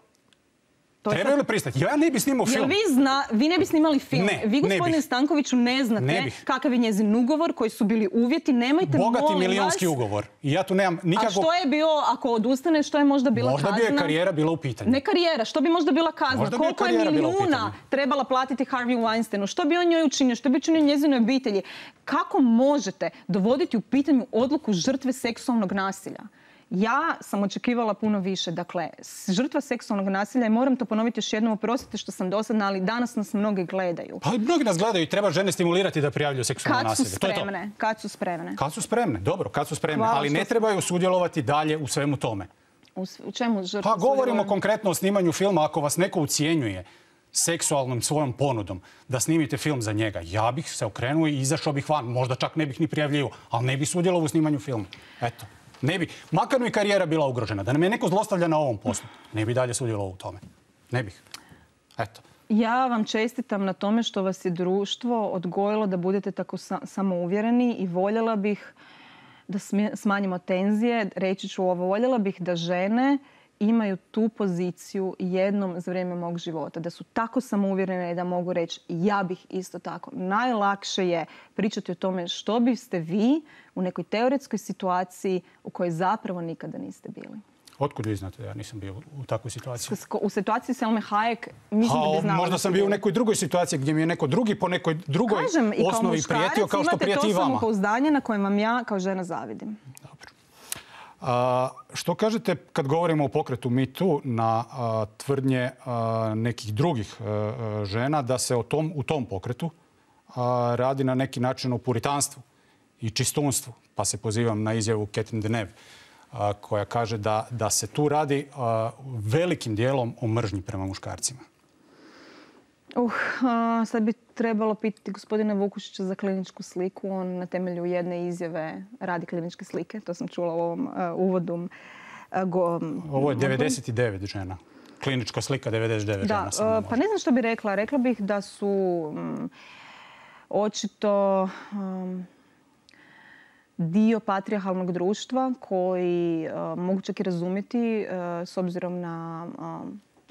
To je Trebaju sad- li pristati? Ja ne bi snimao Jel film. vi, zna, vi ne bi snimali film. Ne, vi, ne gospodine bih. Stankoviću, ne znate Ne bih. kakav je njezin ugovor, koji su bili uvjeti. Nemojte, Bogati molim milionski vas... ugovor. I ja tu nemam A nikakvog... što je bio, ako odustane, što je možda bila Možda kazna? bi je karijera bila u pitanju. Ne karijera, što bi možda bila kazna? Možda bi je Koliko je karijera bila u milijuna pitanju. trebala platiti Harvey Weinsteinu? Što bi on njoj učinio? Što bi učinio njezinoj obitelji? Kako možete dovoditi u pitanju odluku žrtve seksualnog nasilja? Ja sam očekivala puno više. Dakle, s- žrtva seksualnog nasilja, i moram to ponoviti još jednom, oprostite što sam dosadna, ali danas nas mnogi gledaju. Pa mnogi nas gledaju i treba žene stimulirati da prijavljuju seksualno Kad su nasilje. To je to. spremne? Kad su spremne? Kad su spremne, dobro, kad su spremne. Hvala ali što ne ste- trebaju sudjelovati dalje u svemu tome. U, s- u čemu žrtva Pa govorimo sudjeluje? konkretno o snimanju filma. Ako vas neko ucijenjuje seksualnom svojom ponudom da snimite film za njega, ja bih se okrenuo i izašao bih van. Možda čak ne bih ni prijavljivao, ali ne bih sudjelovao u snimanju filma. Eto. Ne bi. Makar mi karijera bila ugrožena. Da nam je neko zlostavlja na ovom poslu, ne bi dalje sudjelovao u tome. Ne bih. Eto. Ja vam čestitam na tome što vas je društvo odgojilo da budete tako samouvjereni i voljela bih da smanjimo tenzije. Reći ću ovo, voljela bih da žene imaju tu poziciju jednom za vrijeme mog života. Da su tako samouvjerene i da mogu reći ja bih isto tako. Najlakše je pričati o tome što biste vi u nekoj teoretskoj situaciji u kojoj zapravo nikada niste bili. Otkud vi znate da ja nisam bio u takvoj situaciji? U situaciji Selme Hayek mislim da bi znala. Možda sam bio u nekoj drugoj situaciji gdje mi je neko drugi po nekoj drugoj osnovi prijetio kao što prijeti i vama. Imate to samopouzdanje na kojem vam ja kao žena zavidim. Dobro. A, što kažete kad govorimo o pokretu Me Too na a, tvrdnje a, nekih drugih a, žena da se o tom, u tom pokretu a, radi na neki način o puritanstvu i čistunstvu? Pa se pozivam na izjavu Catherine Deneuve koja kaže da, da se tu radi a, velikim dijelom o mržnji prema muškarcima. Uh, a, sad bi trebalo pitati gospodina Vukušića za kliničku sliku. On na temelju jedne izjave radi kliničke slike. To sam čula u ovom uh, uvodu. Uh, go, Ovo je devedeset devet žena. Klinička slika devedeset devet da, žena. Uh, pa ne znam što bi rekla. Rekla bih da su um, očito um, dio patrijarhalnog društva koji uh, mogu čak i razumjeti uh, s obzirom na uh,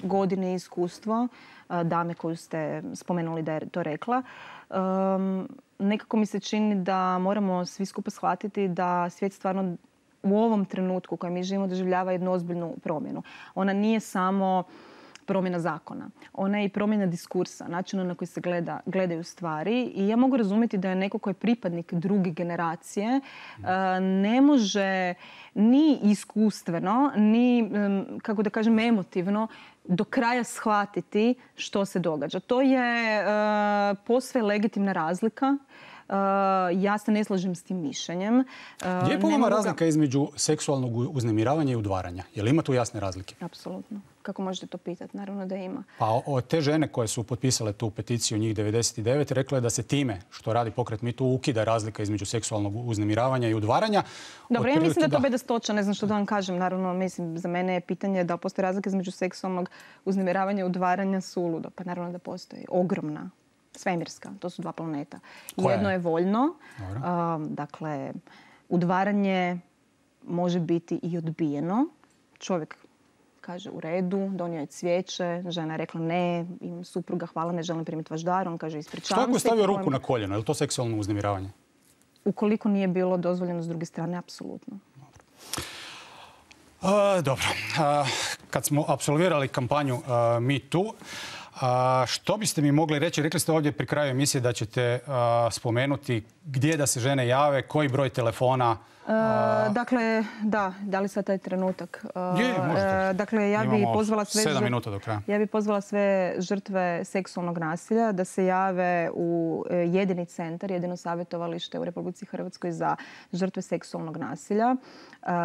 godine i iskustvo uh, dame koju ste spomenuli da je to rekla. Um, nekako mi se čini da moramo svi skupa shvatiti da svijet stvarno u ovom trenutku u kojem mi živimo doživljava jednu ozbiljnu promjenu. Ona nije samo promjena zakona. Ona je i promjena diskursa, načina na koji se gleda, gledaju stvari. I ja mogu razumjeti da je neko koji je pripadnik druge generacije ne može ni iskustveno, ni, kako da kažem, emotivno do kraja shvatiti što se događa. To je uh, posve legitimna razlika. Uh, ja se ne slažem s tim mišljenjem. Uh, Gdje je po vama razlika između seksualnog uznemiravanja i udvaranja? Je li ima tu jasne razlike? Apsolutno. Kako možete to pitati? Naravno da ima. Pa o, te žene koje su potpisale tu peticiju, njih devedeset devet, rekle da se time što radi pokret Me Too ukida razlika između seksualnog uznemiravanja i udvaranja. Dobro, ja mislim da je to bedastoća, ne znam što da vam kažem. Naravno, mislim, za mene je pitanje da postoji razlika između seksualnog uznemiravanja i udvaranja suludo. Pa naravno da postoji. Ogromna. Svemirska. To su dva planeta. Koja Jedno je, je voljno. Um, dakle, udvaranje može biti i odbijeno. Čovjek kaže u redu, donio je cvijeće, žena je rekla ne, imam supruga, hvala, ne želim primiti vaš dar, on kaže ispričavam se. Što ako je stavio ruku na koljeno, je li to seksualno uznemiravanje? Ukoliko nije bilo dozvoljeno s druge strane, apsolutno. Dobro. Uh, dobro. Uh, kad smo apsolvirali kampanju uh, Me Too, A, što biste mi mogli reći? Rekli ste ovdje pri kraju emisije da ćete a, spomenuti gdje da se žene jave, koji broj telefona. A... Dakle, da, da li sad taj trenutak? Je, možete. Dakle, ja bih pozvala sve sedam minuta do kraja. Ja bih pozvala sve žrtve seksualnog nasilja da se jave u jedini centar, jedino savjetovalište u Republici Hrvatskoj za žrtve seksualnog nasilja.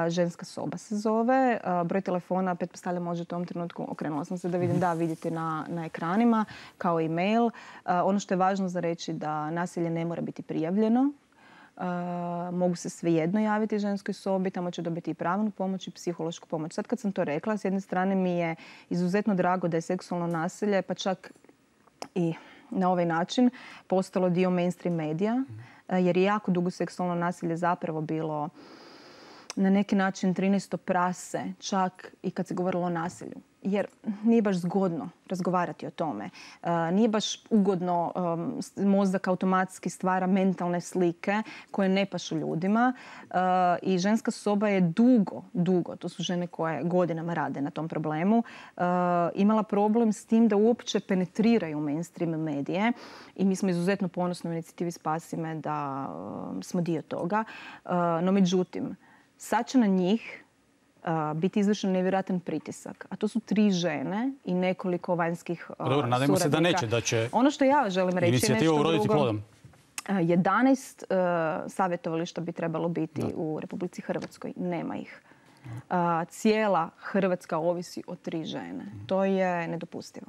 Ženska soba se zove. Broj telefona, pretpostavljam, možete u ovom trenutku, okrenula sam se da vidim, da, vidite na, na ekranima, kao i mail. Ono što je važno za reći da nasilje ne mora biti prijavljeno. Uh, mogu se svejedno javiti ženskoj sobi, tamo će dobiti i pravnu pomoć i psihološku pomoć. Sad kad sam to rekla, s jedne strane mi je izuzetno drago da je seksualno nasilje, pa čak i na ovaj način, postalo dio mainstream medija, uh, jer je jako dugo seksualno nasilje zapravo bilo na neki način trinaesto prase, čak i kad se govorilo o nasilju. Jer nije baš zgodno razgovarati o tome. Uh, nije baš ugodno, um, mozak automatski stvara mentalne slike koje ne pašu ljudima. Uh, I ženska soba je dugo, dugo, to su žene koje godinama rade na tom problemu, uh, imala problem s tim da uopće penetriraju mainstream medije. I mi smo izuzetno ponosni u inicijativi Spasi me da uh, smo dio toga. Uh, no međutim, sad će na njih Uh, biti izvršen nevjerojatan pritisak. A to su tri žene i nekoliko vanjskih uh, Dobro, nadajmo se da neće, da će ono što ja želim reći inicijativa uroditi plodom. Uh, jedanaest uh, savjetovališta bi trebalo biti da. u Republici Hrvatskoj. Nema ih. Uh, cijela Hrvatska ovisi o tri žene. To je nedopustivo.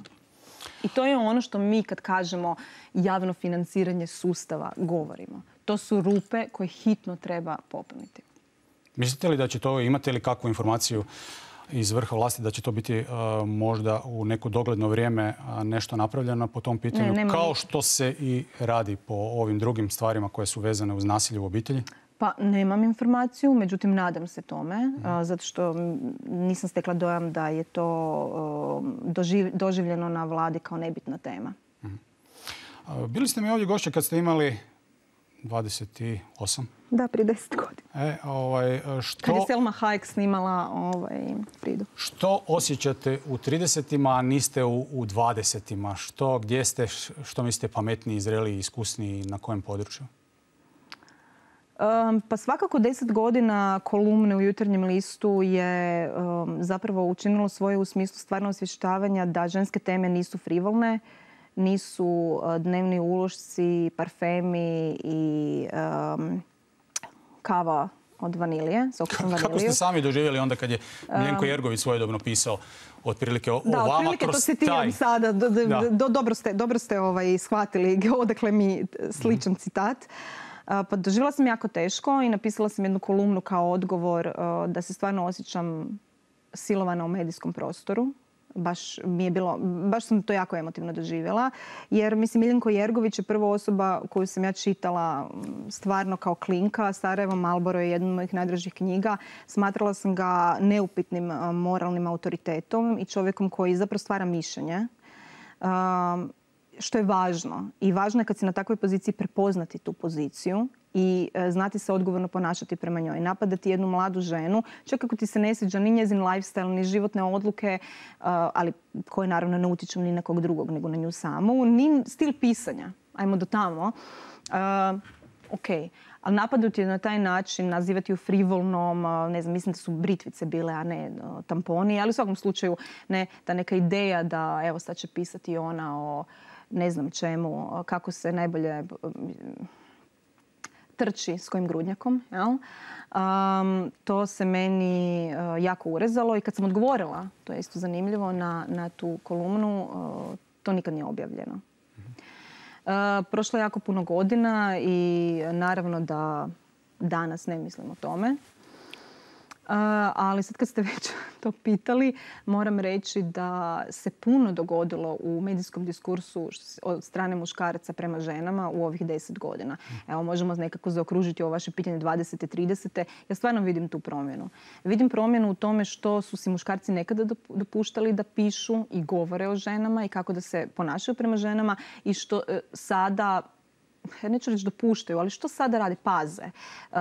I to je ono što mi kad kažemo javno financiranje sustava govorimo. To su rupe koje hitno treba popuniti. Mislite li da će to, imate li kakvu informaciju iz vrha vlasti da će to biti uh, možda u neko dogledno vrijeme uh, nešto napravljeno po tom pitanju, ne, kao što se i radi po ovim drugim stvarima koje su vezane uz nasilje u obitelji? Pa nemam informaciju, međutim nadam se tome, mm. uh, zato što nisam stekla dojam da je to uh, doživ, doživljeno na vladi kao nebitna tema. Mm. Uh, bili ste mi ovdje gošće kad ste imali dvadeset osam? Da, prije deset godina. E, ovaj, što... Kad je Selma Hayek snimala ovaj, Fridu. Što osjećate u tridesetima, a niste u, u dvadesetima? Što, gdje ste, što mislite pametniji, zreliji, iskusniji, na kojem području? Um, pa svakako deset godina kolumne u Jutarnjem listu je um, zapravo učinilo svoje u smislu stvarno osvještavanja da ženske teme nisu frivolne, nisu uh, dnevni ulošci, parfemi i um, kava od vanilije, s okusom vaniliju. Kako ste sami doživjeli onda kad je Miljenko Jergović svojedobno pisao otprilike o, da, o vama otprilike kroz to citiram taj... sada. Do, do, da. do, dobro ste, dobro ste ovaj, shvatili odakle mi sličan mm. citat. Uh, pa doživjela sam jako teško i napisala sam jednu kolumnu kao odgovor uh, da se stvarno osjećam silovana u medijskom prostoru. Baš mi je bilo, baš sam to jako emotivno doživjela. Jer, mislim, Miljenko Jergović je prva osoba koju sam ja čitala stvarno kao klinka. Sarajevo Marlboro je jedna od mojih najdražih knjiga. Smatrala sam ga neupitnim moralnim autoritetom i čovjekom koji zapravo stvara mišljenje. Um, što je važno. I važno je kad si na takvoj poziciji prepoznati tu poziciju i e, znati se odgovorno ponašati prema njoj. Napadati jednu mladu ženu, čak ako ti se ne sviđa ni njezin lifestyle, ni životne odluke, uh, ali koje naravno ne utiču ni na kog drugog, nego na nju samu, ni stil pisanja. Ajmo do tamo. Uh, ok. Ali napadati je na taj način, nazivati ju frivolnom, ne znam, mislim da su britvice bile, a ne tamponi, ali u svakom slučaju ne, ta neka ideja da evo sad će pisati ona o ne znam čemu, kako se najbolje trči s kojim grudnjakom. Jel? Um, to se meni uh, jako urezalo i kad sam odgovorila, to je isto zanimljivo, na, na tu kolumnu, uh, to nikad nije objavljeno. Uh, prošlo je jako puno godina i naravno da danas ne mislim o tome. Uh, ali sad kad ste već to pitali, moram reći da se puno dogodilo u medijskom diskursu od strane muškaraca prema ženama u ovih deset godina. Evo, možemo nekako zaokružiti ovo vaše pitanje dvadesete, tridesete. Ja stvarno vidim tu promjenu. Vidim promjenu u tome što su si muškarci nekada dopuštali da pišu i govore o ženama i kako da se ponašaju prema ženama i što uh, sada, ja neću reći dopuštaju, ali što sada rade, paze. Uh,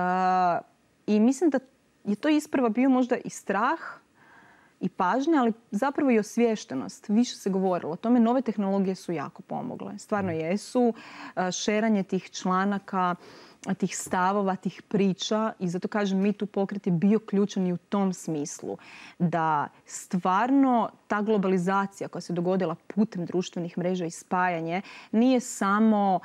I mislim da je to isprva bio možda i strah i pažnja, ali zapravo i osviještenost. Više se govorilo o tome. Nove tehnologije su jako pomogle. Stvarno jesu. Šeranje tih članaka, tih stavova, tih priča. I zato kažem, Mi Too pokret je bio ključan i u tom smislu. Da stvarno ta globalizacija koja se dogodila putem društvenih mreža i spajanje nije samo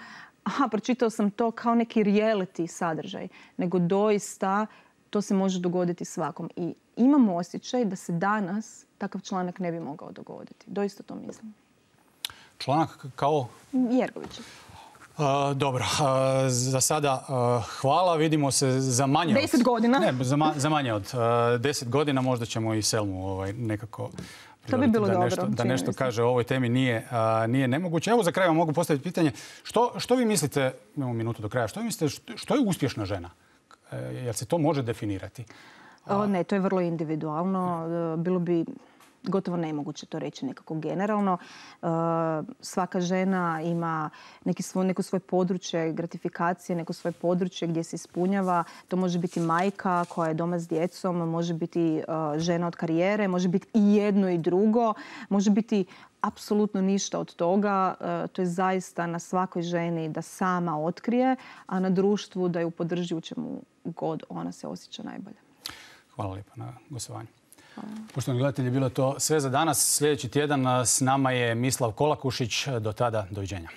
aha, pročitao sam to kao neki reality sadržaj, nego doista to se može dogoditi svakom. I imamo osjećaj da se danas takav članak ne bi mogao dogoditi. Doista to mislim. Članak kao? Jergović. Uh, dobro, uh, za sada uh, hvala. Vidimo se za manje od... Deset godina? Ne, za, ma, za manje od uh, deset godina. Možda ćemo i Selmu ovaj, nekako... To bi bilo da dobro. Nešto, da nešto kaže o ovoj temi nije, uh, nije nemoguće. Evo za kraj vam mogu postaviti pitanje. Što, što vi mislite, imamo minutu do kraja, što vi mislite, što, što je uspješna žena? Jer se to može definirati? O, ne, to je vrlo individualno. Bilo bi gotovo nemoguće to reći nekako generalno. Svaka žena ima neki svoj, neko svoje područje gratifikacije, neko svoje područje gdje se ispunjava. To može biti majka koja je doma s djecom, može biti žena od karijere, može biti i jedno i drugo, može biti apsolutno ništa od toga. To je zaista na svakoj ženi da sama otkrije, a na društvu da ju podrži u čemu god ona se osjeća najbolje. Hvala lijepo na gostovanju. Poštovani gledatelji, bilo je to sve za danas. Sljedeći tjedan s nama je Mislav Kolakušić. Do tada, doviđenja.